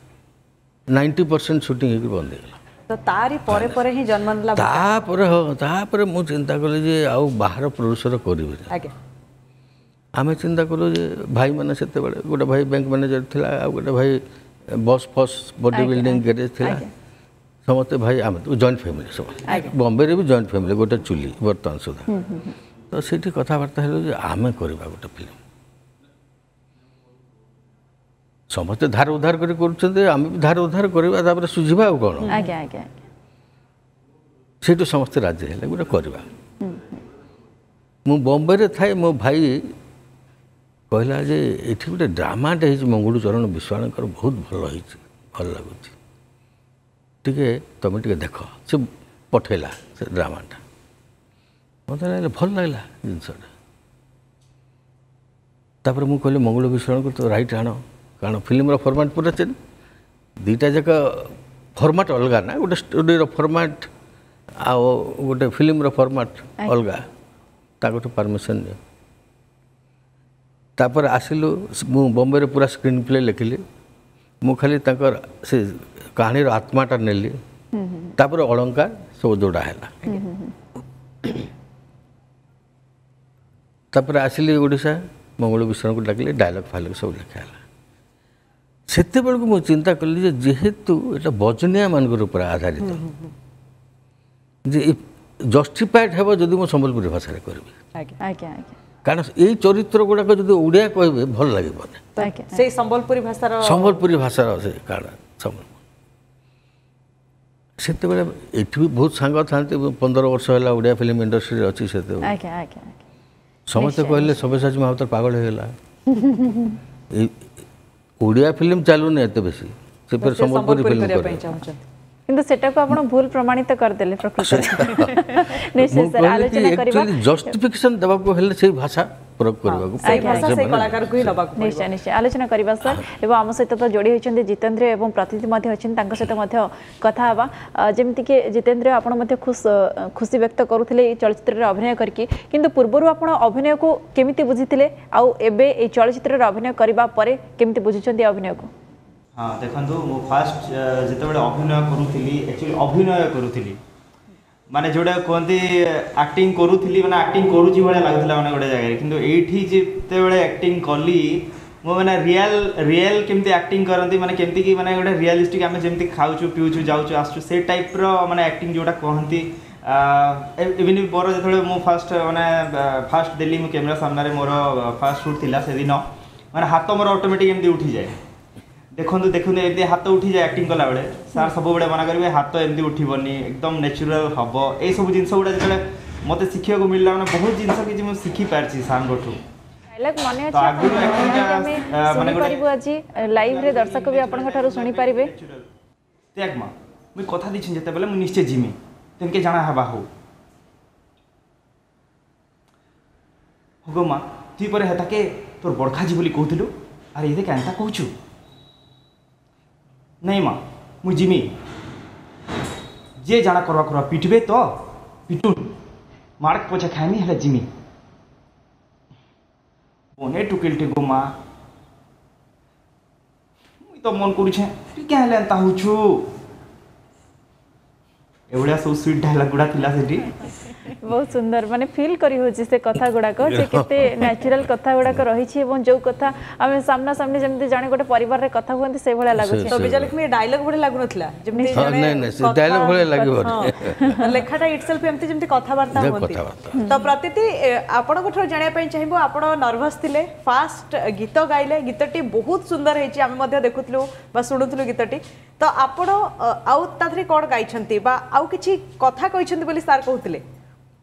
90% ସୁଟିଂ ହେଇକି ବନ୍ଦ ହେଇଗଲା। ତ ତାରି ପରେ ପରେ ହିଁ ଜନ୍ମ ନେଲା। ତାପରେ ହଁ, ତାପରେ ମୁଁ ଚିନ୍ତା କଲି ଯେ ଆଉ ବାହାର ପ୍ରଡ୍ୟୁସର କରିବିନି। ଆମେ ଚିନ୍ତା କଲୁ ଯେ ଭାଇମାନେ ସେତେବେଳେ, ଗୋଟେ ଭାଇ ବ୍ୟାଙ୍କ ମ୍ୟାନେଜର ଥିଲା, ଆଉ ଗୋଟେ ଭାଇ ବସ୍ ଫସ୍ ବଡି ବିଲ୍ଡିଂ ଗ୍ୟାରେଜ୍ ଥିଲା। ସମସ୍ତେ ଭାଇ, ଆମେ ଜଏଣ୍ଟ ଫ୍ୟାମିଲି ସମସ୍ତେ, ବମ୍ବେରେ ବି ଜଏଣ୍ଟ ଫ୍ୟାମିଲି, ଗୋଟେ ଚୁଲି ବର୍ତ୍ତମାନ ସୁଦ୍ଧା। ତ ସେଇଠି କଥାବାର୍ତ୍ତା ହେଲୁ ଯେ ଆମେ କରିବା ଗୋଟେ ଫିଲ୍ମ। ସମସ୍ତେ ଧାର ଉଧାର କରି କରୁଛନ୍ତି, ଆମେ ବି ଧାର ଉଧାର କରିବା, ତାପରେ ସୁଝିବା ଆଉ କ'ଣ। ସେଇଠୁ ସମସ୍ତେ ରାଜି ହେଲେ ଗୋଟେ କରିବା। ମୁଁ ବମ୍ବେରେ ଥାଇ ମୋ ଭାଇ କହିଲା ଯେ ଏଠି ଗୋଟେ ଡ୍ରାମାଟେ ହେଇଛି ମଙ୍ଗୁଳୁ ଚରଣ ବିଶ୍ୱାଳଙ୍କର, ବହୁତ ଭଲ ହେଇଛି, ଭଲ ଲାଗୁଛି, ଟିକେ ତୁମେ ଟିକେ ଦେଖ। ସେ ପଠେଇଲା ସେ ଡ୍ରାମାଟା, ମୋତେ ଲାଗିଲା ଭଲ ଲାଗିଲା ଜିନିଷଟା। ତାପରେ ମୁଁ କହିଲି ମଙ୍ଗୁଳୁ ବିଶ୍ୱାଳଙ୍କୁ ତ ରାଇଟ୍ ଆଣ, କାରଣ ଫିଲ୍ମର ଫର୍ମାଟ୍ ପୁରା ଚେଞ୍ଜ, ଦୁଇଟା ଯାକ ଫର୍ମାଟ୍ ଅଲଗା ନା, ଗୋଟେ ଷ୍ଟୋରିର ଫର୍ମାଟ୍ ଆଉ ଗୋଟେ ଫିଲ୍ମର ଫର୍ମାଟ୍ ଅଲଗା। ତାଙ୍କଠୁ ପରମିସନ୍ ନିଅ। ତାପରେ ଆସିଲୁ, ମୁଁ ବମ୍ବେରେ ପୁରା ସ୍କ୍ରିନ୍ ପ୍ଲେ ଲେଖିଲି, ମୁଁ ଖାଲି ତାଙ୍କର ସେ କାହାଣୀର ଆତ୍ମାଟା ନେଲି। ତାପରେ ଅଳଙ୍କାର ସବୁ ଯୋଡ଼ା ହେଲା। ତାପରେ ଆସିଲି ଓଡ଼ିଶା, ମଙ୍ଗଳ ବିଶ୍ୱାଳଙ୍କୁ ଡାକିଲି, ଡାଇଲଗ୍ ଫାଇଲଗ୍ ସବୁ ଲେଖା ହେଲା। ସେତେବେଳକୁ ମୁଁ ଚିନ୍ତା କଲି ଯେ ଯେହେତୁ ଏଇଟା ବଜନିଆମାନଙ୍କର ଉପରେ ଆଧାରିତ, ଯେ ଜଷ୍ଟିଫାଏଡ୍ ହେବ ଯଦି ମୁଁ ସମ୍ବଲପୁରୀ ଭାଷାରେ କରିବି, କାରଣ ଏଇ ଚରିତ୍ର ଗୁଡ଼ାକ ଯଦି ଓଡ଼ିଆ କହିବେ ଭଲ ଲାଗିବନି। ସେଇ ସମ୍ବଲପୁରୀ ଭାଷାର, ସମ୍ବଲପୁରୀ ଭାଷାର ସେ କାରଣ ସମ୍ବଲପୁର। ସେତେବେଳେ ଏଠି ବି ବହୁତ ସାଙ୍ଗ ଥାନ୍ତି, 15 ବର୍ଷ ହେଲା ଓଡ଼ିଆ ଫିଲ୍ମ ଇଣ୍ଡଷ୍ଟ୍ରିରେ ଅଛି ସେତେବେଳେ। ସମସ୍ତେ କହିଲେ ସବ୍ୟସାଚୀ ମହାପାତ୍ର ପାଗଳ ହେଇଗଲା, ଓଡ଼ିଆ ଫିଲ୍ମ ଚାଲୁନି ଏତେ ବେଶୀ, ସେ ଫେର ସମ୍ବଲପୁରୀ ଫିଲ୍ମ କରିବେ। କିନ୍ତୁ ସେଟାକୁ ଆପଣ ଭୁଲ ପ୍ରମାଣିତ କରିଦେଲେ ପ୍ରକୃତରେ। ନିଶ୍ଚୟ ସାର୍, ଆଲୋଚନା କରିବା। ଜଷ୍ଟିଫିକେସନ ଦେବାକୁ ହେଲେ ସେଇ ଭାଷା ପ୍ରୟୋଗ କରିବାକୁ, ନିଶ୍ଚୟ ନିଶ୍ଚୟ ଆଲୋଚନା କରିବା ସାର୍। ଏବଂ ଆମ ସହିତ ତ ଯୋଡ଼ି ହୋଇଛନ୍ତି ଜିତେନ୍ଦ୍ର ଏବଂ ପ୍ରତିନିଧି ମଧ୍ୟ ଅଛନ୍ତି, ତାଙ୍କ ସହିତ ମଧ୍ୟ କଥା ହେବା। ଯେମିତିକି ଜିତେନ୍ଦ୍ର, ଆପଣ ମଧ୍ୟ ଖୁସି ବ୍ୟକ୍ତ କରୁଥିଲେ ଏଇ ଚଳଚ୍ଚିତ୍ରରେ ଅଭିନୟ କରିକି, କିନ୍ତୁ ପୂର୍ବରୁ ଆପଣ ଅଭିନୟକୁ କେମିତି ବୁଝିଥିଲେ ଆଉ ଏବେ ଏଇ ଚଳଚ୍ଚିତ୍ରରେ ଅଭିନୟ କରିବା ପରେ କେମିତି ବୁଝୁଛନ୍ତି ଅଭିନୟକୁ? ହଁ ଦେଖନ୍ତୁ, ମୁଁ ଫାଷ୍ଟ ଯେତେବେଳେ ଅଭିନୟ କରୁଥିଲି, ଆକ୍ଚୁଆଲି ଅଭିନୟ କରୁଥିଲି, ମାନେ ଯେଉଁଟା କୁହନ୍ତି ଆକ୍ଟିଂ କରୁଥିଲି, ମାନେ ଆକ୍ଟିଂ କରୁଛି ଭଳିଆ ଲାଗୁଥିଲା ମାନେ ଗୋଟେ ଜାଗାରେ। କିନ୍ତୁ ଏଇଠି ଯେତେବେଳେ ଆକ୍ଟିଂ କଲି ମୁଁ, ମାନେ ରିଅଲ୍ ରିଅଲ୍ କେମିତି ଆକ୍ଟିଂ କରନ୍ତି, ମାନେ କେମିତିକି ମାନେ ଗୋଟେ ରିଅଲିଷ୍ଟିକ୍, ଆମେ ଯେମିତି ଖାଉଛୁ ପିଉଛୁ ଯାଉଛୁ ଆସୁଛୁ ସେ ଟାଇପ୍ର ମାନେ ଆକ୍ଟିଂ ଯେଉଁଟା କୁହନ୍ତି। ଇଭିନ୍ ମୋର ଯେତେବେଳେ ମୁଁ ଫାଷ୍ଟ ମାନେ ଫାଷ୍ଟ ଦେଲି ମୁଁ କ୍ୟାମେରା ସାମ୍ନାରେ, ମୋର ଫାଷ୍ଟ ସୁଟ୍ ଥିଲା ସେଦିନ, ମାନେ ହାତ ମୋର ଅଟୋମେଟିକ୍ ଏମିତି ଉଠିଯାଏ। ଦେଖନ୍ତୁ ଦେଖନ୍ତୁ ଏମିତି ହାତ ଉଠିଯାଏ ଆକ୍ଟିଂ କଲାବେଳେ। ସାର୍ ସବୁବେଳେ ମନା କରିବେ ହାତ ଏମିତି ଉଠିବନି, ଏକଦମ ନ୍ୟାଚୁରାଲ୍ ହେବ। ଏଇସବୁ ଜିନିଷ ଗୁଡ଼ା ଯେତେବେଳେ ମୋତେ ଶିଖିବାକୁ ମିଳିଲା, ମାନେ ବହୁତ ଜିନିଷ କିଛି ମୁଁ ଶିଖିପାରିଛି ସାର୍ଙ୍କଠୁ। ଡାଇଲଗ୍ ମନେ ଅଛି ଆମେ ଶୁଣିପାରିବୁ ଆଜି ଲାଇଭ୍ରେ? ଦର୍ଶକ ବି ଆପଣଙ୍କ ଠାରୁ ଶୁଣିପାରିବେ। ତ୍ୟାଗ ମା, ମୁଇଁ କଥା ଦେଇଛି ଯେତେବେଳେ ମୁଁ ନିଶ୍ଚୟ ଯିମି, ତେନକେ ଜାଣା ହେବା ହଉ ହୋ ମା। ତୁଇ ପରେ ହେତାକେ ତୋର ବଡ଼ଖାଜି ବୋଲି କହୁଥିଲୁ, ଆରେ ଏତେ କେନ୍ତା କହୁଛୁ? ନାଇଁ ମା, ମୁଇଁ ଯିମି, ଯିଏ ଜାଣା କରବା କରବା, ପିଟବେ ତ ପିଟୁନ୍, ମାର୍କ ପଛେ ଖାଇମି ହେଲେ ଯିମି। ବନେ ଟୁକେଲଟେ ଗୋ ମା, ମୁଇଁ ତ ମନ କରୁଛେ ତୁଇ କାଁ ହେଲେ ଏନ୍ତା ହଉଛୁ। ଏଭଳିଆ ସବୁ ସୁଇଟ୍ ଡାଇଲଗ୍ ଗୁଡ଼ା ଥିଲା ସେଠି। ବହୁତ ସୁନ୍ଦର, ମାନେ ଫିଲ୍ କରି ହେଉଛି ସେ କଥା ଗୁଡ଼ାକ ଯେ କେତେ ନ୍ୟାଚୁରାଲ କଥା ଗୁଡ଼ାକ ରହିଛି, ଏବଂ ଯେଉଁ କଥା ଆମେ ସାମ୍ନାସାମ୍ନି ଯେମିତି ଜଣେ ଗୋଟେ ପରିବାରରେ କଥା ହୁଅନ୍ତି ସେଇଭଳିଆ ଲାଗୁଛି। ତ ବିଜୟଲକ୍ଷ୍ମୀ, ଡାଇଲଗ ଭଳି ଲାଗୁନଥିଲା ଯେମିତି ଡାଇଲଗ ଭଳିଆ ଲାଗିବନି, ଲେଖାଟା ଇଟସେଲ୍ଫ ଏମିତି ଯେମିତି କଥାବାର୍ତ୍ତା ହୁଅନ୍ତି। ତ ପ୍ରତିତି, ଆପଣଙ୍କ ଠାରୁ ଜାଣିବା ପାଇଁ ଚାହିଁବୁ, ଆପଣ ନର୍ଭସ୍ ଥିଲେ, ଫାଷ୍ଟ ଗୀତ ଗାଇଲେ, ଗୀତଟି ବହୁତ ସୁନ୍ଦର ହେଇଛି, ଆମେ ମଧ୍ୟ ଦେଖୁଥିଲୁ ବା ଶୁଣୁଥିଲୁ ଗୀତଟି। ତ ଆପଣ ଆଉ ତା ଦେହରେ କ'ଣ ଗାଇଛନ୍ତି ବା ଆଉ କିଛି କଥା କହିଛନ୍ତି ବୋଲି ସାର୍ କହୁଥିଲେ?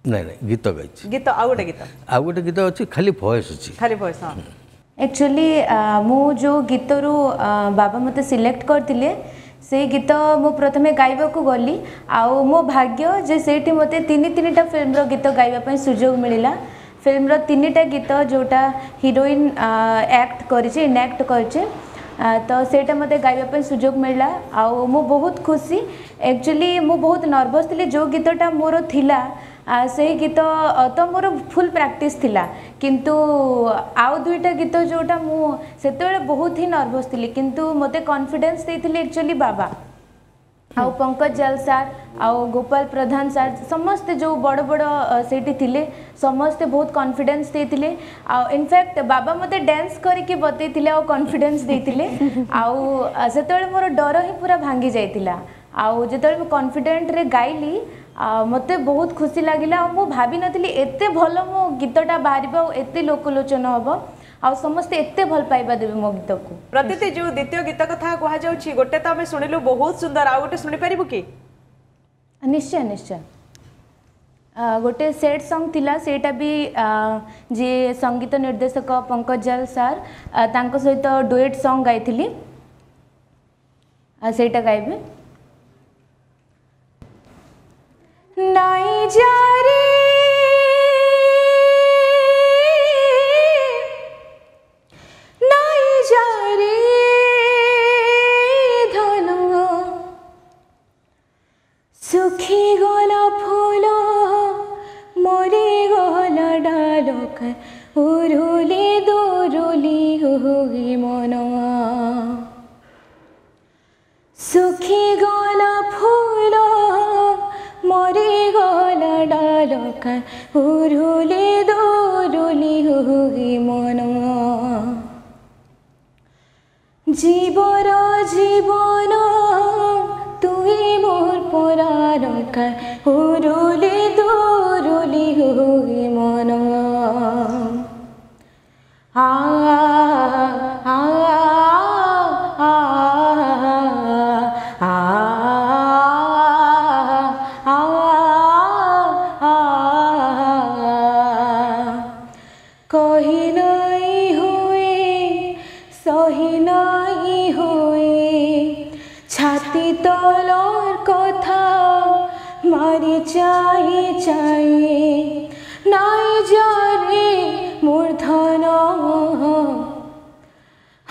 ନାଇଁ ନାଇଁ, ଗୀତ ଗାଇଛି। ଗୀତ ଆଉ ଗୋଟେ ଗୀତ, ଆଉ ଗୋଟେ ଗୀତ ଅଛି, ଖାଲି ଭଏସ୍ ଅଛି। ଖାଲି ଭଏସ୍। ହଁ। ଆକ୍ଚୁଆଲି ମୁଁ ଯେଉଁ ଗୀତରୁ ବାବା ମୋତେ ସିଲେକ୍ଟ କରିଥିଲେ, ସେଇ ଗୀତ ମୁଁ ପ୍ରଥମେ ଗାଇବାକୁ ଗଲି, ଆଉ ମୋ ଭାଗ୍ୟ ଯେ ସେଇଠି ମୋତେ 3 3ଟା ଫିଲ୍ମର ଗୀତ ଗାଇବା ପାଇଁ ସୁଯୋଗ ମିଳିଲା। ଫିଲ୍ମର 3ଟା ଗୀତ ଯେଉଁଟା ହିରୋଇନ୍ ଆକ୍ଟ କରିଛି, ଇନାକ୍ଟ କରିଛି, ତ ସେଇଟା ମୋତେ ଗାଇବା ପାଇଁ ସୁଯୋଗ ମିଳିଲା ଆଉ ମୁଁ ବହୁତ ଖୁସି। ଆକ୍ଚୁଆଲି ମୁଁ ବହୁତ ନର୍ଭସ୍ ଥିଲି। ଯେଉଁ ଗୀତଟା ମୋର ଥିଲା, ସେଇ ଗୀତ ତ ମୋର ଫୁଲ୍ ପ୍ରାକ୍ଟିସ୍ ଥିଲା, କିନ୍ତୁ ଆଉ 2ଟା ଗୀତ ଯେଉଁଟା ମୁଁ ସେତେବେଳେ ବହୁତ ହିଁ ନର୍ଭସ୍ ଥିଲି, କିନ୍ତୁ ମୋତେ କନଫିଡେନ୍ସ ଦେଇଥିଲେ ଆକ୍ଚୁଆଲି ବାବା ଆଉ ପଙ୍କଜ ଜାଲ ସାର୍ ଆଉ ଗୋପାଳ ପ୍ରଧାନ ସାର୍, ସମସ୍ତେ ଯେଉଁ ବଡ଼ ବଡ଼ ସେଇଠି ଥିଲେ, ସମସ୍ତେ ବହୁତ କନଫିଡେନ୍ସ ଦେଇଥିଲେ। ଆଉ ଇନଫ୍ୟାକ୍ଟ ବାବା ମୋତେ ଡ୍ୟାନ୍ସ କରିକି ବତେଇଥିଲେ ଆଉ କନଫିଡେନ୍ସ ଦେଇଥିଲେ, ଆଉ ସେତେବେଳେ ମୋର ଡର ହିଁ ପୁରା ଭାଙ୍ଗି ଯାଇଥିଲା। ଆଉ ଯେତେବେଳେ ମୁଁ କନଫିଡେଣ୍ଟରେ ଗାଇଲି, ମୋତେ ବହୁତ ଖୁସି ଲାଗିଲା। ଆଉ ମୁଁ ଭାବିନଥିଲି ଏତେ ଭଲ ମୋ ଗୀତଟା ବାହାରିବ ଆଉ ଏତେ ଲୋକଲୋଚନ ହେବ ଆଉ ସମସ୍ତେ ଏତେ ଭଲ ପାଇବା ଦେବେ ମୋ ଗୀତକୁ। ପ୍ରତୀତି, ଯୋଉ ଦ୍ୱିତୀୟ ଗୀତ କଥା କୁହାଯାଉଛି, ଗୋଟେ ତ ଆମେ ଶୁଣିଲୁ ବହୁତ ସୁନ୍ଦର, ଆଉ ଗୋଟେ ଶୁଣିପାରିବୁ କି? ନିଶ୍ଚୟ ନିଶ୍ଚୟ। ଗୋଟେ ସେଡ୍ ସଙ୍ଗ ଥିଲା, ସେଇଟା ବି ଯିଏ ସଙ୍ଗୀତ ନିର୍ଦ୍ଦେଶକ ପଙ୍କଜ ଜାଲ ସାର୍, ତାଙ୍କ ସହିତ ଡୁଏଟ୍ ସଙ୍ଗ ଗାଇଥିଲି, ସେଇଟା ଗାଇବି। ନାଇଁ ଯାରେ, ନାଇଁ ଯାରେ ଧନ, ଶୁଖିଗଲା ଫୁଲ, ମରିଗଲା ଡାଲ, ଉରୁଲି ଦୁରୁଲି ହୋଇ ମନ। ଶୁଖିଗଲା ଫୁଲ, ମରିଗଲା ଡାଲ, ଉରୁଲି ଦୁରୁଲି ହୋଇ ମନ। জীবর জীবন তুই মোর পরাণ, উরুলি দুরুলি হই মন। আ আ আ আ আ আ। কহি নাই হয়ে, সহি নাই হয়ে, ছাতি তলর কথা মারি চাই চাই। নাই যারে মূর্ধন,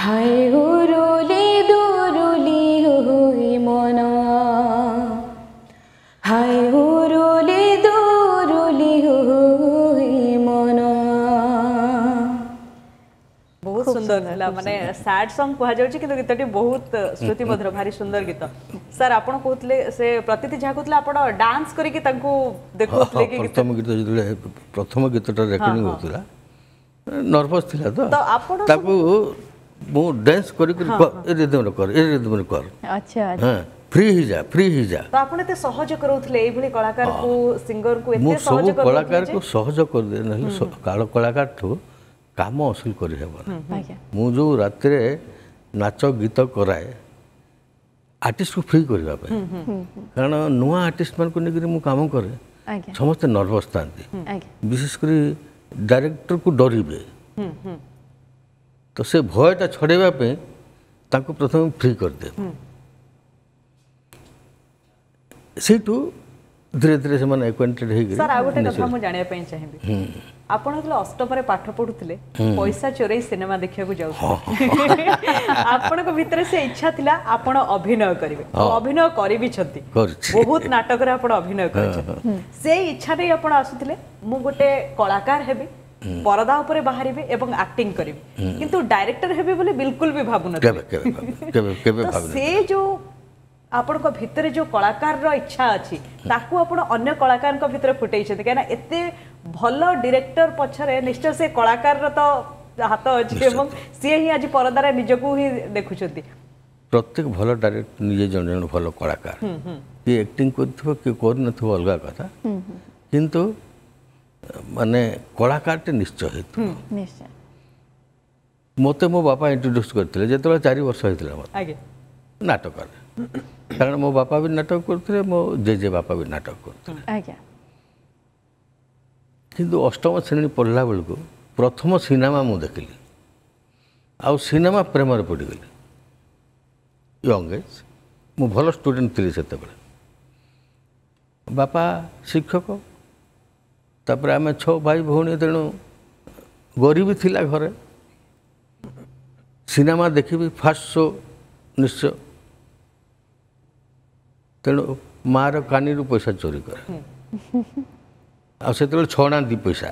হায় উরুলি দুরুলি হই মন, হায় উরুলি দুরুলি হই মন। ବହୁତ ସୁନ୍ଦର ଥିଲା। ମାନେ ସ୍ୟାଡ୍ ସଙ୍ଗ କୁହାଯାଉଛି, କିନ୍ତୁ ଗୀତଟି ବହୁତ ଶ୍ରୁତିମଧୁର, ଭାରି ସୁନ୍ଦର ଗୀତ। ସାର୍, ଆପଣ କହୁଥିଲେ, ସେ ପ୍ରତୀତି ଯାହା କହୁଥିଲେ, ଆପଣ ଡାନ୍ସ କରିକି ତାଙ୍କୁ ଦେଖାଉଥିଲେ କି ଗୀତ? ପ୍ରଥମ ଗୀତ, ଯେତେବେଳେ ପ୍ରଥମ ଗୀତଟା ରେକର୍ଡିଂ ହେଉଥିଲା, ନର୍ଭସ୍ ଥିଲା ତ ତ ଆପଣ ତାକୁ ମୁଁ ଡ୍ୟାନ୍ସ କରି କରି, ଏ ରିଦମରେ କର, ଏ ରିଦମରେ କର, ଆଚ୍ଛା ହଁ, ଫ୍ରି ହେଇଯା, ଫ୍ରି ହେଇଯା। ତ ଆପଣ ଏତେ ସହଜ କରାଉଥିଲେ ଏଇଭଳି କଳାକାରକୁ, ସିଙ୍ଗରକୁ ମୁଁ ଏତେ ସବୁ ସହଜ କରାଉଥିଲେ କଳାକାରକୁ ଯେ ସହଜ କରିଦିଏ, ନହେଲେ କଳାକାରଠୁ କାମ ଅସୁଲ କରିହେବନି। ମୁଁ ଯେଉଁ ରାତିରେ ନାଚ ଗୀତ କରାଏ ଆର୍ଟିଷ୍ଟକୁ ଫ୍ରି କରିବା ପାଇଁ, କାରଣ ନୂଆ ଆର୍ଟିଷ୍ଟମାନଙ୍କୁ ନେଇକରି ମୁଁ କାମ କରେ, ସମସ୍ତେ ନର୍ଭସ୍ ଥାନ୍ତି, ବିଶେଷ କରି ଡାଇରେକ୍ଟରକୁ ଡରିବେ। ତ ସେ ଭୟଟା ଛଡ଼େଇବା ପାଇଁ ତାଙ୍କୁ ପ୍ରଥମେ ଫ୍ରି କରିଦିଏ। ସେଇଠୁ ଧୀରେ ଧୀରେ ସେମାନେ ଆକ୍ୱେଣ୍ଟେଡ୍ ହେଇକରି ସାର୍, ଆଉ ଗୋଟେ କଥା ମୁଁ ଜାଣିବା ପାଇଁ ଚାହିଁବି। ଆପଣ ଯେତେବେଳେ ଅଷ୍ଟମରେ ପାଠ ପଢୁଥିଲେ, ପଇସା ଚୋରେଇ ସିନେମା ଦେଖିବାକୁ ଯାଉଥିଲେ। ଆପଣଙ୍କ ଭିତରେ ସେ ଇଚ୍ଛା ଥିଲା ଆପଣ ଅଭିନୟ କରିବେ ଆଉ ଅଭିନୟ କରିବିଛନ୍ତି। କରିଛି। ବହୁତ ନାଟକରେ ଆପଣ ଅଭିନୟ କରିଛନ୍ତି। ସେଇ ଇଚ୍ଛା ନେଇ ଆପଣ ଆସୁଥିଲେ, ମୁଁ ଗୋଟେ କଳାକାର ହେବି, ପରଦା ଉପରେ ବାହାରିବି ଏବଂ ଆକ୍ଟିଂ କରିବି, କିନ୍ତୁ ଡାଇରେକ୍ଟର ହେବି ବୋଲି ବିଲକୁଲ ବି ଭାବୁନଥିଲେ। କେବେ କେବେ କେବେ କେବେ ତ ଭାବିନି। ସେ ଯୋଉ ଆପଣଙ୍କ ଭିତରେ ଯୋଉ କଳାକାରର ଇଚ୍ଛା ଅଛି, ତାକୁ ଆପଣ ଅନ୍ୟ କଳାକାରଙ୍କ ଭିତରେ ଫୁଟେଇଛନ୍ତି, କାହିଁକିନା ଏତେ ଭଲ ଡିରେକ୍ଟର ପଛରେ ନିଶ୍ଚୟ ସେ କଳାକାରର ତ ହାତ ଅଛି ଏବଂ ସିଏ ହିଁ ଆଜି ପରଦାରେ ନିଜକୁ ହିଁ ଦେଖୁଛନ୍ତି। ପ୍ରତ୍ୟେକ ଭଲ ଡାଇରେକ୍ଟର ନିଜେ ଜଣେ ଜଣେ ଭଲ କଳାକାର। କିଏ ଆକ୍ଟିଂ କରିଥିବ, କିଏ କରିନଥିବ, ଅଲଗା କଥା, କିନ୍ତୁ ମାନେ କଳାକାରଟେ ନିଶ୍ଚୟ ହେଇଥିବ। ମୋତେ ମୋ ବାପା ଇଣ୍ଟ୍ରୋଡ୍ୟୁସ୍ କରିଥିଲେ ଯେତେବେଳେ 4 ବର୍ଷ ହେଇଥିଲା ମୋତେ ନାଟକରେ, କାରଣ ମୋ ବାପା ବି ନାଟକ କରୁଥିଲେ, ମୋ ଜେଜେ ବାପା ବି ନାଟକ କରୁଥିଲେ। କିନ୍ତୁ ଅଷ୍ଟମ ଶ୍ରେଣୀ ପଢ଼ିଲା ବେଳକୁ ପ୍ରଥମ ସିନେମା ମୁଁ ଦେଖିଲି, ଆଉ ସିନେମା ପ୍ରେମରେ ପଡ଼ିଗଲି। ୟଙ୍ଗ ଏଜ୍, ମୁଁ ଭଲ ଷ୍ଟୁଡେଣ୍ଟ ଥିଲି ସେତେବେଳେ। ବାପା ଶିକ୍ଷକ, ତାପରେ ଆମେ 6 ଭାଇ ଭଉଣୀ, ତେଣୁ ଗରିବୀ ଥିଲା ଘରେ। ସିନେମା ଦେଖିବି ଫାର୍ଷ୍ଟ ଶୋ ନିଶ୍ଚୟ, ତେଣୁ ମାଆର କାନିରୁ ପଇସା ଚୋରି କରେ। ଆଉ ସେତେବେଳେ 6 ଅଣା 2 ପଇସା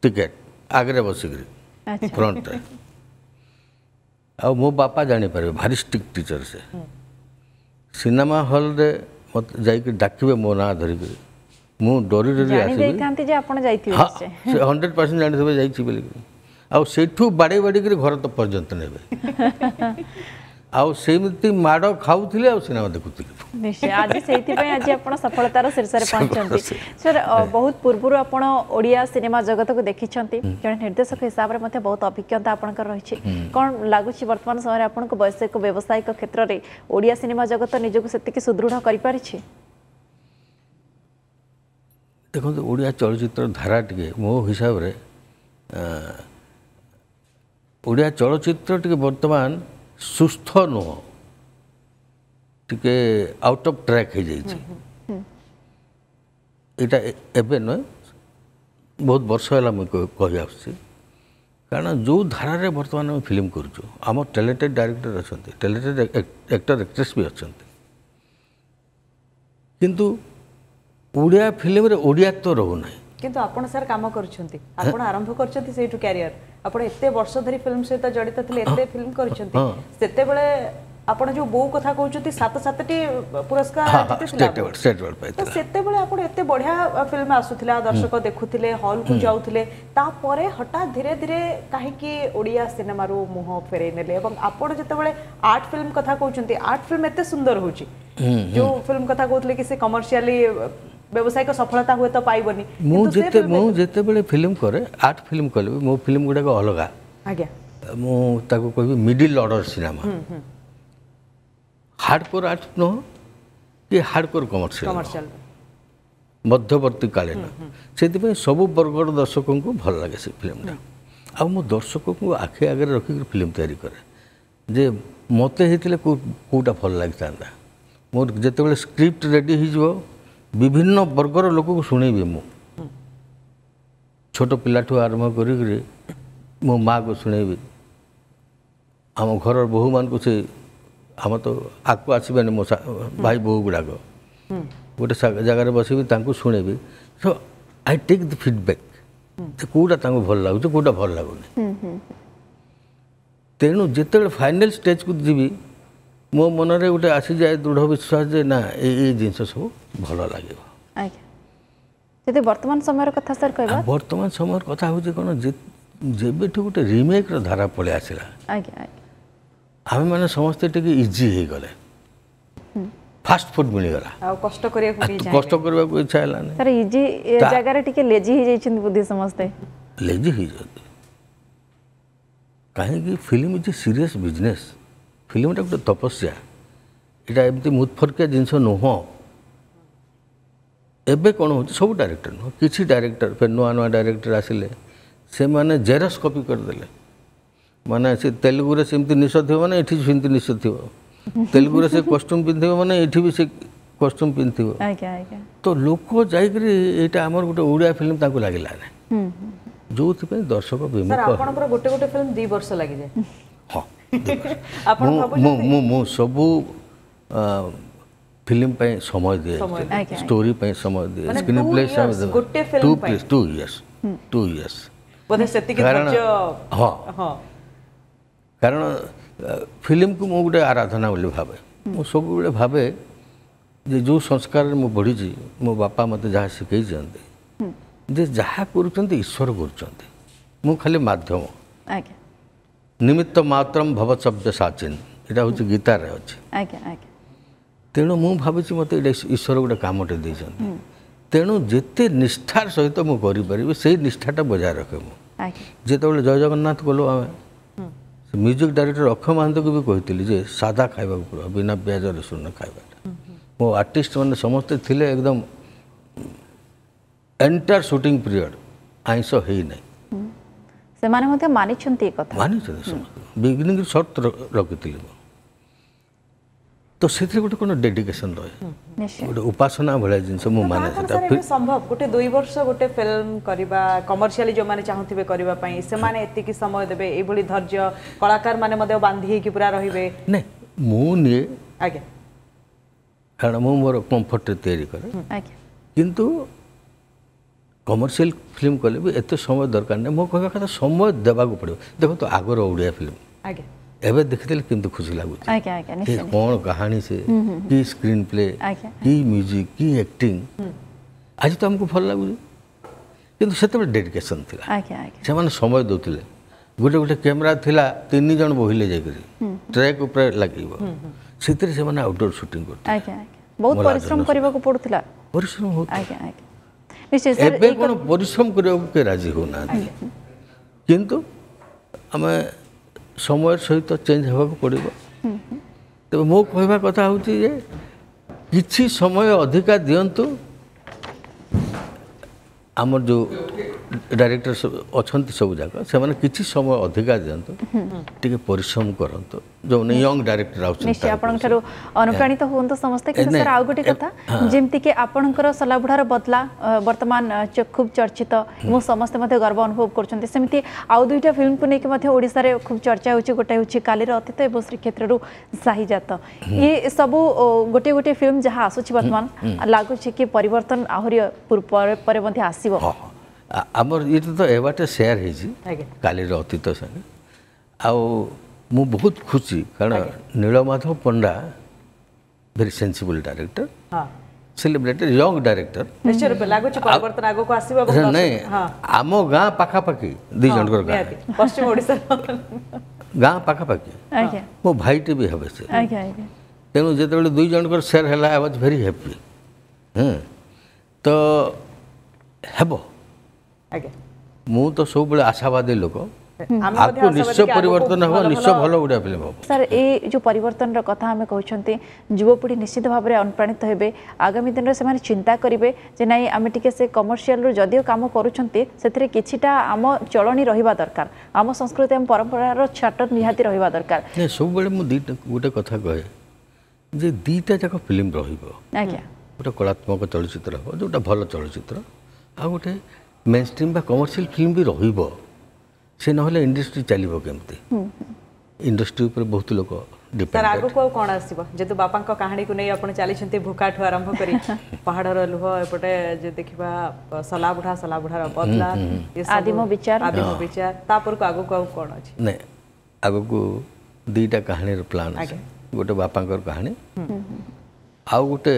ଟିକେଟ୍, ଆଗରେ ବସିକିରି ଫ୍ରଣ୍ଟରେ। ଆଉ ମୋ ବାପା ଜାଣିପାରିବେ, ଭାରି ଷ୍ଟ୍ରିକ୍ଟ ଟିଚର ସେ। ସିନେମା ହଲ୍ରେ ମୋତେ ଯାଇକି ଡାକିବେ ମୋ ନାଁ ଧରିକିରି, ମୁଁ ଡରି ଡରି ଆସିବି। ହଁ, ସେ 100% ଜାଣିଥିବେ ଯାଇଛି ବୋଲିକିରି। ଆଉ ସେଇଠୁ ବାଡ଼େଇ ବାଡ଼େଇକିରି ଘର ତ ପର୍ଯ୍ୟନ୍ତ ନେବେ। ଆଉ ସେମିତି ମାଡ଼ ଖାଉଥିଲି ଆଉ ସିନେମା ଦେଖୁଥିଲି। ନିଶ୍ଚୟ ଆଜି ସେଇଥିପାଇଁ ଆଜି ଆପଣ ସଫଳତାର ଶୀର୍ଷରେ ପହଞ୍ଚିଛନ୍ତି। ସାର୍, ବହୁତ ପୂର୍ବରୁ ଆପଣ ଓଡ଼ିଆ ସିନେମା ଜଗତକୁ ଦେଖିଛନ୍ତି, ଜଣେ ନିର୍ଦ୍ଦେଶକ ହିସାବରେ ମଧ୍ୟ ବହୁତ ଅଭିଜ୍ଞତା ଆପଣଙ୍କର ରହିଛି। କ'ଣ ଲାଗୁଛି ବର୍ତ୍ତମାନ ସମୟରେ ଆପଣଙ୍କୁ ବୈଷୟିକ ବ୍ୟବସାୟିକ କ୍ଷେତ୍ରରେ ଓଡ଼ିଆ ସିନେମା ଜଗତ ନିଜକୁ ସେତିକି ସୁଦୃଢ଼ କରିପାରିଛି? ଦେଖନ୍ତୁ, ଓଡ଼ିଆ ଚଳଚ୍ଚିତ୍ର ଧାରା ଟିକେ ମୋ ହିସାବରେ ଓଡ଼ିଆ ଚଳଚ୍ଚିତ୍ର ଟିକେ ବର୍ତ୍ତମାନ ସୁସ୍ଥ ନୁହଁ, ଟିକେ ଆଉଟ୍ ଅଫ୍ ଟ୍ରାକ୍ ହେଇଯାଇଛି। ଏଇଟା ଏବେ ନୁହେଁ, ବହୁତ ବର୍ଷ ହେଲା ମୁଁ କହି ଆସୁଛି। କାରଣ ଯେଉଁ ଧାରାରେ ବର୍ତ୍ତମାନ ଆମେ ଫିଲ୍ମ କରୁଛୁ, ଆମ ଟ୍ୟାଲେଣ୍ଟେଡ଼ ଡାଇରେକ୍ଟର ଅଛନ୍ତି, ଟ୍ୟାଲେଣ୍ଟେଡ଼ ଆକ୍ଟର ଆକ୍ଟ୍ରେସ୍ ବି ଅଛନ୍ତି, କିନ୍ତୁ ଓଡ଼ିଆ ଫିଲ୍ମରେ ଓଡ଼ିଆତ୍ୱ ରହୁନାହିଁ। କିନ୍ତୁ ଆପଣ ସାର୍ କାମ କରୁଛନ୍ତି, ଆପଣ ଆରମ୍ଭ କରିଛନ୍ତି ସେଇଠୁ କ୍ୟାରିୟର, ଆପଣ ଏତେ ବର୍ଷ ଧରି ଫିଲ୍ମ ସହିତ ଜଡ଼ିତ ଥିଲେ, ଏତେ ଫିଲ୍ମ କରିଛନ୍ତି। ସେତେବେଳେ ଆପଣ ଯୋଉ ବୋଉ କଥା କହୁଛନ୍ତି, 7 7ଟି ପୁରସ୍କାର ଜିତିଥିଲା, ସେତେବେଳେ ଆପଣ ଏତେ ବଢିଆ ଫିଲ୍ମ ଆସୁଥିଲା, ଦର୍ଶକ ଦେଖୁଥିଲେ, ହଲକୁ ଯାଉଥିଲେ। ତାପରେ ହଠାତ୍ ଧୀରେ ଧୀରେ କାହିଁକି ଓଡ଼ିଆ ସିନେମାରୁ ମୁହଁ ଫେରେଇ ନେଲେ? ଏବଂ ଆପଣ ଯେତେବେଳେ ଆର୍ଟ ଫିଲ୍ମ କଥା କହୁଛନ୍ତି, ଆର୍ଟ ଫିଲ୍ମ ଏତେ ସୁନ୍ଦର ହଉଛି, ଯୋଉ ଫିଲ୍ମ କଥା କହୁଥିଲେ କି ସେ କମର୍ସିଆଲି ବ୍ୟବସାୟିକ ସଫଳତା ହୁଏତ ପାଇବନି। ମୁଁ ଯେତେବେଳେ ଫିଲ୍ମ କରେ, ଆର୍ଟ ଫିଲ୍ମ କଲେ ମୋ ଫିଲ୍ମ ଗୁଡ଼ାକ ଅଲଗା। ଆଜ୍ଞା, ମୁଁ ତାକୁ କହିବି middle order cinema, hardcore art ନୁହଁ କି ହାର୍ଡକୋର କମର୍ସିଆଲ, ମଧ୍ୟବର୍ତ୍ତୀକାଳୀନ। ସେଥିପାଇଁ ସବୁ ବର୍ଗର ଦର୍ଶକଙ୍କୁ ଭଲ ଲାଗେ ସେ ଫିଲ୍ମଟା। ଆଉ ମୁଁ ଦର୍ଶକଙ୍କୁ ଆଖି ଆଗରେ ରଖିକି ଫିଲ୍ମ ତିଆରି କରେ, ଯେ ମୋତେ ହେଇଥିଲେ କେଉଁଟା ଭଲ ଲାଗିଥାନ୍ତା। ମୋର ଯେତେବେଳେ ସ୍କ୍ରିପ୍ଟ ରେଡ଼ି ହେଇଯିବ, ବିଭିନ୍ନ ବର୍ଗର ଲୋକକୁ ଶୁଣେଇବି ମୁଁ, ଛୋଟ ପିଲାଠୁ ଆରମ୍ଭ କରିକିରି ମୋ ମାଆକୁ ଶୁଣେଇବି, ଆମ ଘରର ବୋହୂମାନଙ୍କୁ। ସେ ଆମ ତ ଆଗକୁ ଆସିବେନି, ମୋ ଭାଇ ବୋହୂ ଗୁଡ଼ାକ ଗୋଟେ ଜାଗାରେ ବସିବି, ତାଙ୍କୁ ଶୁଣେଇବି। So I take the feedback, ଯେ କେଉଁଟା ତାଙ୍କୁ ଭଲ ଲାଗୁଛି, କେଉଁଟା ଭଲ ଲାଗୁନି। ତେଣୁ ଯେତେବେଳେ ଫାଇନାଲ୍ ଷ୍ଟେଜ୍କୁ ଯିବି, ମୋ ମନରେ ଗୋଟେ ଆସିଯାଏ ଦୃଢ଼ ବିଶ୍ୱାସ ଯେ ନା, ଏଇ ଜିନିଷ ସବୁ ଭଲ ଲାଗିବ। ଆଜ୍ଞା, ଯଦି ବର୍ତ୍ତମାନ ସମୟର କଥା ସାର୍ କହିବା, ବର୍ତ୍ତମାନ ସମୟର କଥା ହେଉଛି କ'ଣ, ଯେବେଠୁ ଗୋଟେ ରିମେକ୍ର ଧାରା ପଳେଇ ଆସିଲା, ଆଜ୍ଞା ଆଜ୍ଞା, ଆମେମାନେ ସମସ୍ତେ ଟିକେ ଇଜି ହେଇଗଲେ, ଫାଷ୍ଟ ଫୁଡ୍ ମିଳିଗଲା, ଆଉ କଷ୍ଟ କରିବାକୁ କଷ୍ଟ କରିବାକୁ ଇଚ୍ଛା ହେଲାନି। ସାର୍, ଇଜି ଜାଗାରେ ଟିକେ ଲେଜି ହେଇଯାଇଛନ୍ତି ବୋଧେ ସମସ୍ତେ। ଲେଜି ହେଇଯାନ୍ତି କାହିଁକି? Film is a serious business. ଫିଲ୍ମଟା ଗୋଟେ ତପସ୍ୟା, ଏଇଟା ଏମିତି ମୁତଫରକିଆ ଜିନିଷ ନୁହଁ। ଏବେ କ'ଣ ହେଉଛି, ସବୁ ଡାଇରେକ୍ଟର ନୁହଁ, କିଛି ଡାଇରେକ୍ଟର ଫେର ନୂଆ ନୂଆ ଡାଇରେକ୍ଟର ଆସିଲେ, ସେମାନେ ଜେରକ୍ସ କପି କରିଦେଲେ। ମାନେ ସେ ତେଲୁଗୁରେ ସେମିତି ନିଶ ଥିବ ମାନେ ଏଠି ସେମିତି ନିଶ ଥିବ, ତେଲୁଗୁରେ ସେ କଷ୍ଟ୍ୟୁମ୍ ପିନ୍ଧିବ ମାନେ ଏଠି ବି ସେ କଷ୍ଟ୍ୟୁମ୍ ପିନ୍ଧିଥିବ। ତ ଲୋକ ଯାଇକରି ଏଇଟା ଆମର ଗୋଟେ ଓଡ଼ିଆ ଫିଲ୍ମ ତାଙ୍କୁ ଲାଗିଲାନି, ଯୋଉଥିପାଇଁ ଦର୍ଶକ ବିମୁଖ। ଆପଣଙ୍କର ଗୋଟେ ଗୋଟେ ଫିଲ୍ମ 2 ବର୍ଷ ଲାଗିଯାଏ। ହଁ, ମୁଁ ସବୁ ଫିଲ୍ମ ପାଇଁ ସମୟ ଦିଏ, ଷ୍ଟୋରି ପାଇଁ ସମୟ ଦିଏ, ସ୍କ୍ରିନ୍ ପ୍ଲେ ସମୟ ଦିଏ। 2 ଇୟର୍ସ, 2 ଇୟର୍ସ କାରଣ ହଁ, କାରଣ ଫିଲ୍ମକୁ ମୁଁ ଗୋଟେ ଆରାଧନା ବୋଲି ଭାବେ। ମୁଁ ସବୁବେଳେ ଭାବେ ଯେ ଯେଉଁ ସଂସ୍କାରରେ ମୁଁ ବଢ଼ିଛି, ମୋ ବାପା ମୋତେ ଯାହା ଶିଖେଇଛନ୍ତି, ଯେ ଯାହା କରୁଛନ୍ତି ଈଶ୍ୱର କରୁଛନ୍ତି, ମୁଁ ଖାଲି ମାଧ୍ୟମ। ନିମିତ୍ତ ମାତ୍ରମ ଭବସବ୍ୟ ସାଚିନ, ଏଇଟା ହେଉଛି ଗୀତାରେ ଅଛି। ତେଣୁ ମୁଁ ଭାବୁଛି ମୋତେ ଏଇଟା ଈଶ୍ୱର ଗୋଟେ କାମଟେ ଦେଇଛନ୍ତି, ତେଣୁ ଯେତେ ନିଷ୍ଠାର ସହିତ ମୁଁ କରିପାରିବି ସେଇ ନିଷ୍ଠାଟା ବଜାୟ ରଖେ ମୁଁ। ଯେତେବେଳେ ଜୟ ଜଗନ୍ନାଥ କଲୁ ଆମେ, ମ୍ୟୁଜିକ୍ ଡାଇରେକ୍ଟର ଅକ୍ଷୟ ମହାନ୍ତକୁ ବି କହିଥିଲି ଯେ ସାଦା ଖାଇବାକୁ ପଡ଼ିବ, ବିନା ପିଆଜ ରସୁଣ ଖାଇବାଟା। ମୋ ଆର୍ଟିଷ୍ଟ ମାନେ ସମସ୍ତେ ଥିଲେ ଏକଦମ ଏଣ୍ଟାୟାର ସୁଟିଂ ପିରିୟଡ଼ ଆଇଁଷ ହେଇନାହିଁ। ସେମାନେ ମଧ୍ୟ ମାନିଛନ୍ତି ଏ କଥା, ମାନିଛନ୍ତି ସମସ୍ତେ। ବିଗିନିଂ ସର୍ତ୍ତ ରଖିଥିଲି ମୁଁ, ତ ସେଥିରେ ଗୋଟେ କ'ଣ ଡେଡିକେସନ୍ ରହେ, ଗୋଟେ ଉପାସନା ଭଳିଆ ଜିନିଷ ମୁଁ ମାନେ। ସେଟା ସମ୍ଭବ ଗୋଟେ 2 ବର୍ଷ ଗୋଟେ ଫିଲ୍ମ କରିବା, କମର୍ସିଆଲି ଯେଉଁମାନେ ଚାହୁଁଥିବେ କରିବା ପାଇଁ ସେମାନେ ଏତିକି ସମୟ ଦେବେ, ଏଇଭଳି ଧୈର୍ଯ୍ୟ କଳାକାର ମାନେ ମଧ୍ୟ ବାନ୍ଧି ହେଇକି ପୁରା ରହିବେ? ନାଇଁ, ମୁଁ ନିଏ ଆଜ୍ଞା, କାରଣ ମୁଁ ମୋର କମ୍ଫର୍ଟରେ ତିଆରି କରେ। କିନ୍ତୁ କମର୍ସିଆଲ ଫିଲ୍ମ କଲେ ବି ଏତେ ସମୟ ଦରକାର ନାହିଁ। ମୋ କହିବା କଥା ସମୟ ଦେବାକୁ ପଡ଼ିବ। ଦେଖନ୍ତୁ ଆଗର ଓଡ଼ିଆ ଫିଲ୍ମ ଏବେ ଦେଖିଦେଲେ କେମିତି ଖୁସି ଲାଗୁଛି, କ'ଣ କାହାଣୀ ସେ, କି ସ୍କ୍ରିନ୍ ପ୍ଲେ, କି ମ୍ୟୁଜିକ୍, କି ଆକ୍ଟିଂ, ଆଜି ତ ଆମକୁ ଭଲ ଲାଗୁଛି। କିନ୍ତୁ ସେତେବେଳେ ଡେଡିକେସନ୍ ଥିଲା, ସେମାନେ ସମୟ ଦେଉଥିଲେ। ଗୋଟେ ଗୋଟେ କ୍ୟାମେରା ଥିଲା, 3 ଜଣ ବୋହିଲେ ଯାଇକରି ଟ୍ରାକ୍ ଉପରେ ଲାଗିବ, ସେଥିରେ ସେମାନେ ଆଉଟଡୋର ସୁଟିଂ କରୁଥିଲେ। ବହୁତ ପରିଶ୍ରମ କରିବାକୁ ପଡୁଥିଲା, ପରିଶ୍ରମ ହେଉଥିଲା। ଏବେ କ'ଣ ପରିଶ୍ରମ କରିବାକୁ କେହି ରାଜି ହେଉନାହାନ୍ତି, କିନ୍ତୁ ଆମେ ସମୟ ସହିତ ଚେଞ୍ଜ ହେବାକୁ ପଡ଼ିବ। ତେବେ ମୋ କହିବା କଥା ହେଉଛି ଯେ କିଛି ସମୟ ଅଧିକା ଦିଅନ୍ତୁ। ଆମର ଯେଉଁ ଡାଇରେକ୍ଟର ଅଛନ୍ତି ସବୁ ଯାକ, ସେମାନେ କିଛି ସମୟ ଅଧିକା ଦିଅନ୍ତୁ, ଟିକେ ପରିଶ୍ରମ କରନ୍ତୁ। ଯେଉଁମାନେ ୟଙ୍ଗ ଡାଇରେକ୍ଟର ଆସୁଛନ୍ତି, ଆପଣଙ୍କ ଠାରୁ ଅନୁପ୍ରାଣିତ ହୁଅନ୍ତୁ ସମସ୍ତେ। କିନ୍ତୁ ସାର୍ ଆଉ ଗୋଟେ କଥା, ଯେମିତିକି ଆପଣଙ୍କର ସଲାବୁଢ଼ାର ବଦଲା ବର୍ତ୍ତମାନ ଖୁବ୍ ଚର୍ଚ୍ଚିତ ଏବଂ ସମସ୍ତେ ମଧ୍ୟ ଗର୍ବ ଅନୁଭବ କରୁଛନ୍ତି, ସେମିତି ଆଉ 2ଟା ଫିଲ୍ମକୁ ନେଇକି ମଧ୍ୟ ଓଡ଼ିଶାରେ ଖୁବ୍ ଚର୍ଚ୍ଚା ହେଉଛି। ଗୋଟେ ହେଉଛି କାଲିର ଅତୀତ ଏବଂ ଶ୍ରୀକ୍ଷେତ୍ରରୁ ସାହିଜାତ। ଏ ସବୁ ଗୋଟିଏ ଗୋଟିଏ ଫିଲ୍ମ ଯାହା ଆସୁଛି ବର୍ତ୍ତମାନ, ଲାଗୁଛି କି ପରିବର୍ତ୍ତନ ଆହୁରି ପରେ ମଧ୍ୟ ଆସିବ? ଆମର ଏଇଟା ତ ଏବାଟେ ସେୟାର ହେଇଛି କାଲିର ଅତୀତ ସାଙ୍ଗେ, ଆଉ ମୁଁ ବହୁତ ଖୁସି କାରଣ Nilamadhab Panda very sensible director, celebrated young director. ନାଇଁ, ଆମ ଗାଁ ପାଖାପାଖି 2 ଜଣଙ୍କର ଗାଁ, ପଶ୍ଚିମ ଓଡ଼ିଶା ଗାଁ ପାଖାପାଖି, ମୋ ଭାଇଟେ ବି ହେବେ ସେ। ତେଣୁ ଯେତେବେଳେ 2 ଜଣଙ୍କର ସେୟାର ହେଲା, I was very happy. ତ ହେବ, ମୁଁ ତ ସବୁବେଳେ ଆଶାବାଦୀ ଲୋକ, ଆଗକୁ ନିଶ୍ଚୟ ପରିବର୍ତ୍ତନ ହେବ, ନିଶ୍ଚୟ ଭଲ ଓଡ଼ିଆ ଫିଲ୍ମ ହେବ। ସାର୍, ଏଇ ଯେଉଁ ପରିବର୍ତ୍ତନର କଥା ଆମେ କହୁଛନ୍ତି, ଯୁବପିଢ଼ି ନିଶ୍ଚିତ ଭାବରେ ଅନୁପ୍ରାଣିତ ହେବେ। ଆଗାମୀ ଦିନରେ ସେମାନେ ଚିନ୍ତା କରିବେ ଯେ ନାଇଁ, ଆମେ ଟିକେ ସେ କମର୍ସିଆଲରୁ ଯଦିଓ କାମ କରୁଛନ୍ତି, ସେଥିରେ କିଛିଟା ଆମ ଚଳଣି ରହିବା ଦରକାର, ଆମ ସଂସ୍କୃତି ଆମ ପରମ୍ପରାର ଛାଟ ନିହାତି ରହିବା ଦରକାର। ନାଇଁ, ସବୁବେଳେ ମୁଁ 2ଟା ଗୋଟେ କଥା କହେ ଯେ 2ଟା ଯାକ ଫିଲ୍ମ ରହିବ ଆଜ୍ଞା। ଗୋଟେ କଳାତ୍ମକ ଚଳଚ୍ଚିତ୍ର ହେବ, ଯେଉଁଟା ଭଲ ଚଳଚ୍ଚିତ୍ର, ଆଉ ଗୋଟେ ମେନ୍ ଷ୍ଟ୍ରିମ୍ ବା କମର୍ସିଆଲ ଫିଲ୍ମ ବି ରହିବ। ସେ ନହେଲେ ଇଣ୍ଡଷ୍ଟ୍ରି ଚାଲିବ କେମିତି? ଇଣ୍ଡଷ୍ଟ୍ରି ଉପରେ ବହୁତ ଲୋକ ଡିପେଣ୍ଡ। ଆଗକୁ ଆଉ କ'ଣ ଆସିବ? ଯେହେତୁ ବାପାଙ୍କ କାହାଣୀକୁ ନେଇ ଆପଣ ଚାଲିଛନ୍ତି, ଭୁକାଠୁ ଆରମ୍ଭ କରି ପାହାଡ଼ର ଲୁହ, ଏପଟେ ଯେ ଦେଖିବା ସଲାବୁଢ଼ା, ସଲାବୁଢ଼ାର ବଦଲା, ଆଦିମ ବିଚାର, ଆଦିମ ବିଚାର, ତାପରକୁ ଆଗକୁ ଆଉ କ'ଣ ଅଛି? ନାଇଁ, ଆଗକୁ 2ଟା କାହାଣୀର ପ୍ଲାନ୍ ଅଛି। ଗୋଟେ ବାପାଙ୍କର କାହାଣୀ, ଆଉ ଗୋଟେ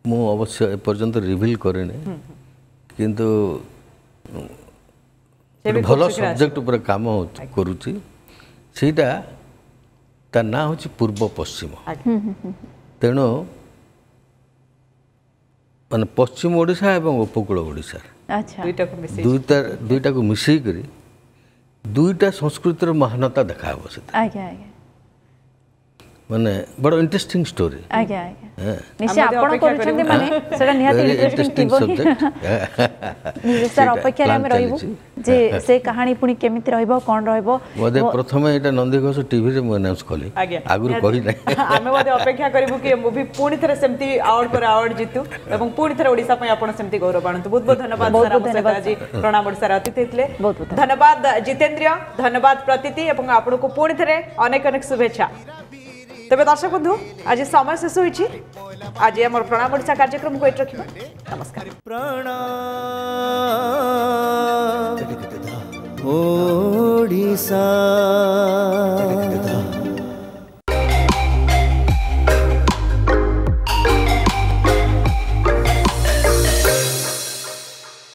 ମୁଁ ଅବଶ୍ୟ ଏପର୍ଯ୍ୟନ୍ତ ରିଭିଲ୍ କରିନି, କିନ୍ତୁ ଭଲ ସବଜେକ୍ଟ ଉପରେ କାମ କରୁଛି। ସେଇଟା ତା ନାଁ ହେଉଛି ପୂର୍ବ ପଶ୍ଚିମ। ତେଣୁ ମାନେ ପଶ୍ଚିମ ଓଡ଼ିଶା ଏବଂ ଉପକୂଳ ଓଡ଼ିଶା ଦୁଇଟାକୁ ମିଶେଇକରି ଦୁଇଟା ସଂସ୍କୃତିର ମହାନତା ଦେଖାହେବ ସେଥିରେ। ମାନେ ବଡ଼ ଇଣ୍ଟରେଷ୍ଟିଂ ଷ୍ଟୋରି। ଆଜ୍ଞା ଆଜ୍ଞା, ନିଶ୍ଚୟ ଆପଣ କରୁଛନ୍ତି ମାନେ ସେଟା ନିହାତି ଇଣ୍ଟରେଷ୍ଟିଂ ଥିବ। ସାର୍, ଅପେକ୍ଷାରେ ଆମେ ରହିବୁ ଯେ ସେ କାହାଣୀ ପୁଣି କେମିତି ରହିବ, କ'ଣ ରହିବ। ବୋଧେ ପ୍ରଥମେ ଏଇଟା ନନ୍ଦିଘୋଷ ଟିଭିରେ ମୁଁ ଆନାଉନ୍ସ କଲି, ଆଗରୁ କହିନାହିଁ। ଆମେ ମଧ୍ୟ ଅପେକ୍ଷା କରିବୁ କି ଏ ମୁଭି ପୁଣି ଥରେ ସେମିତି ଆୱାର୍ଡ ପରେ ଆୱାର୍ଡ ଜିତୁ ଏବଂ ପୁଣି ଥରେ ଓଡ଼ିଶା ପାଇଁ ଆପଣ ସେମିତି ଗୌରବ ଆଣନ୍ତୁ। ବହୁତ ବହୁତ ଧନ୍ୟବାଦ ସାର୍, ଆମ ସହିତ ଆଜି ପ୍ରଣାମ ଓଡ଼ିଶାର ଅତିଥି ଥିଲେ। ଧନ୍ୟବାଦ ଜିତେନ୍ଦ୍ରିୟ, ଧନ୍ୟବାଦ ପ୍ରତୀତି, ଏବଂ ଆପଣଙ୍କୁ ପୁଣି ଥରେ ଅନେକ ଅନେକ ଶୁଭେଚ୍ଛା। ତେବେ ଦର୍ଶକ ବନ୍ଧୁ, ଆଜି ସମୟ ଶେଷ ହୋଇଛି। ଆଜି ଆମର ପ୍ରଣାମ ଓଡ଼ିଶା କାର୍ଯ୍ୟକ୍ରମକୁ ଏଇଠି ରଖିବା। ନମସ୍କାର। ପ୍ରଣାମ ଓଡ଼ିଶା।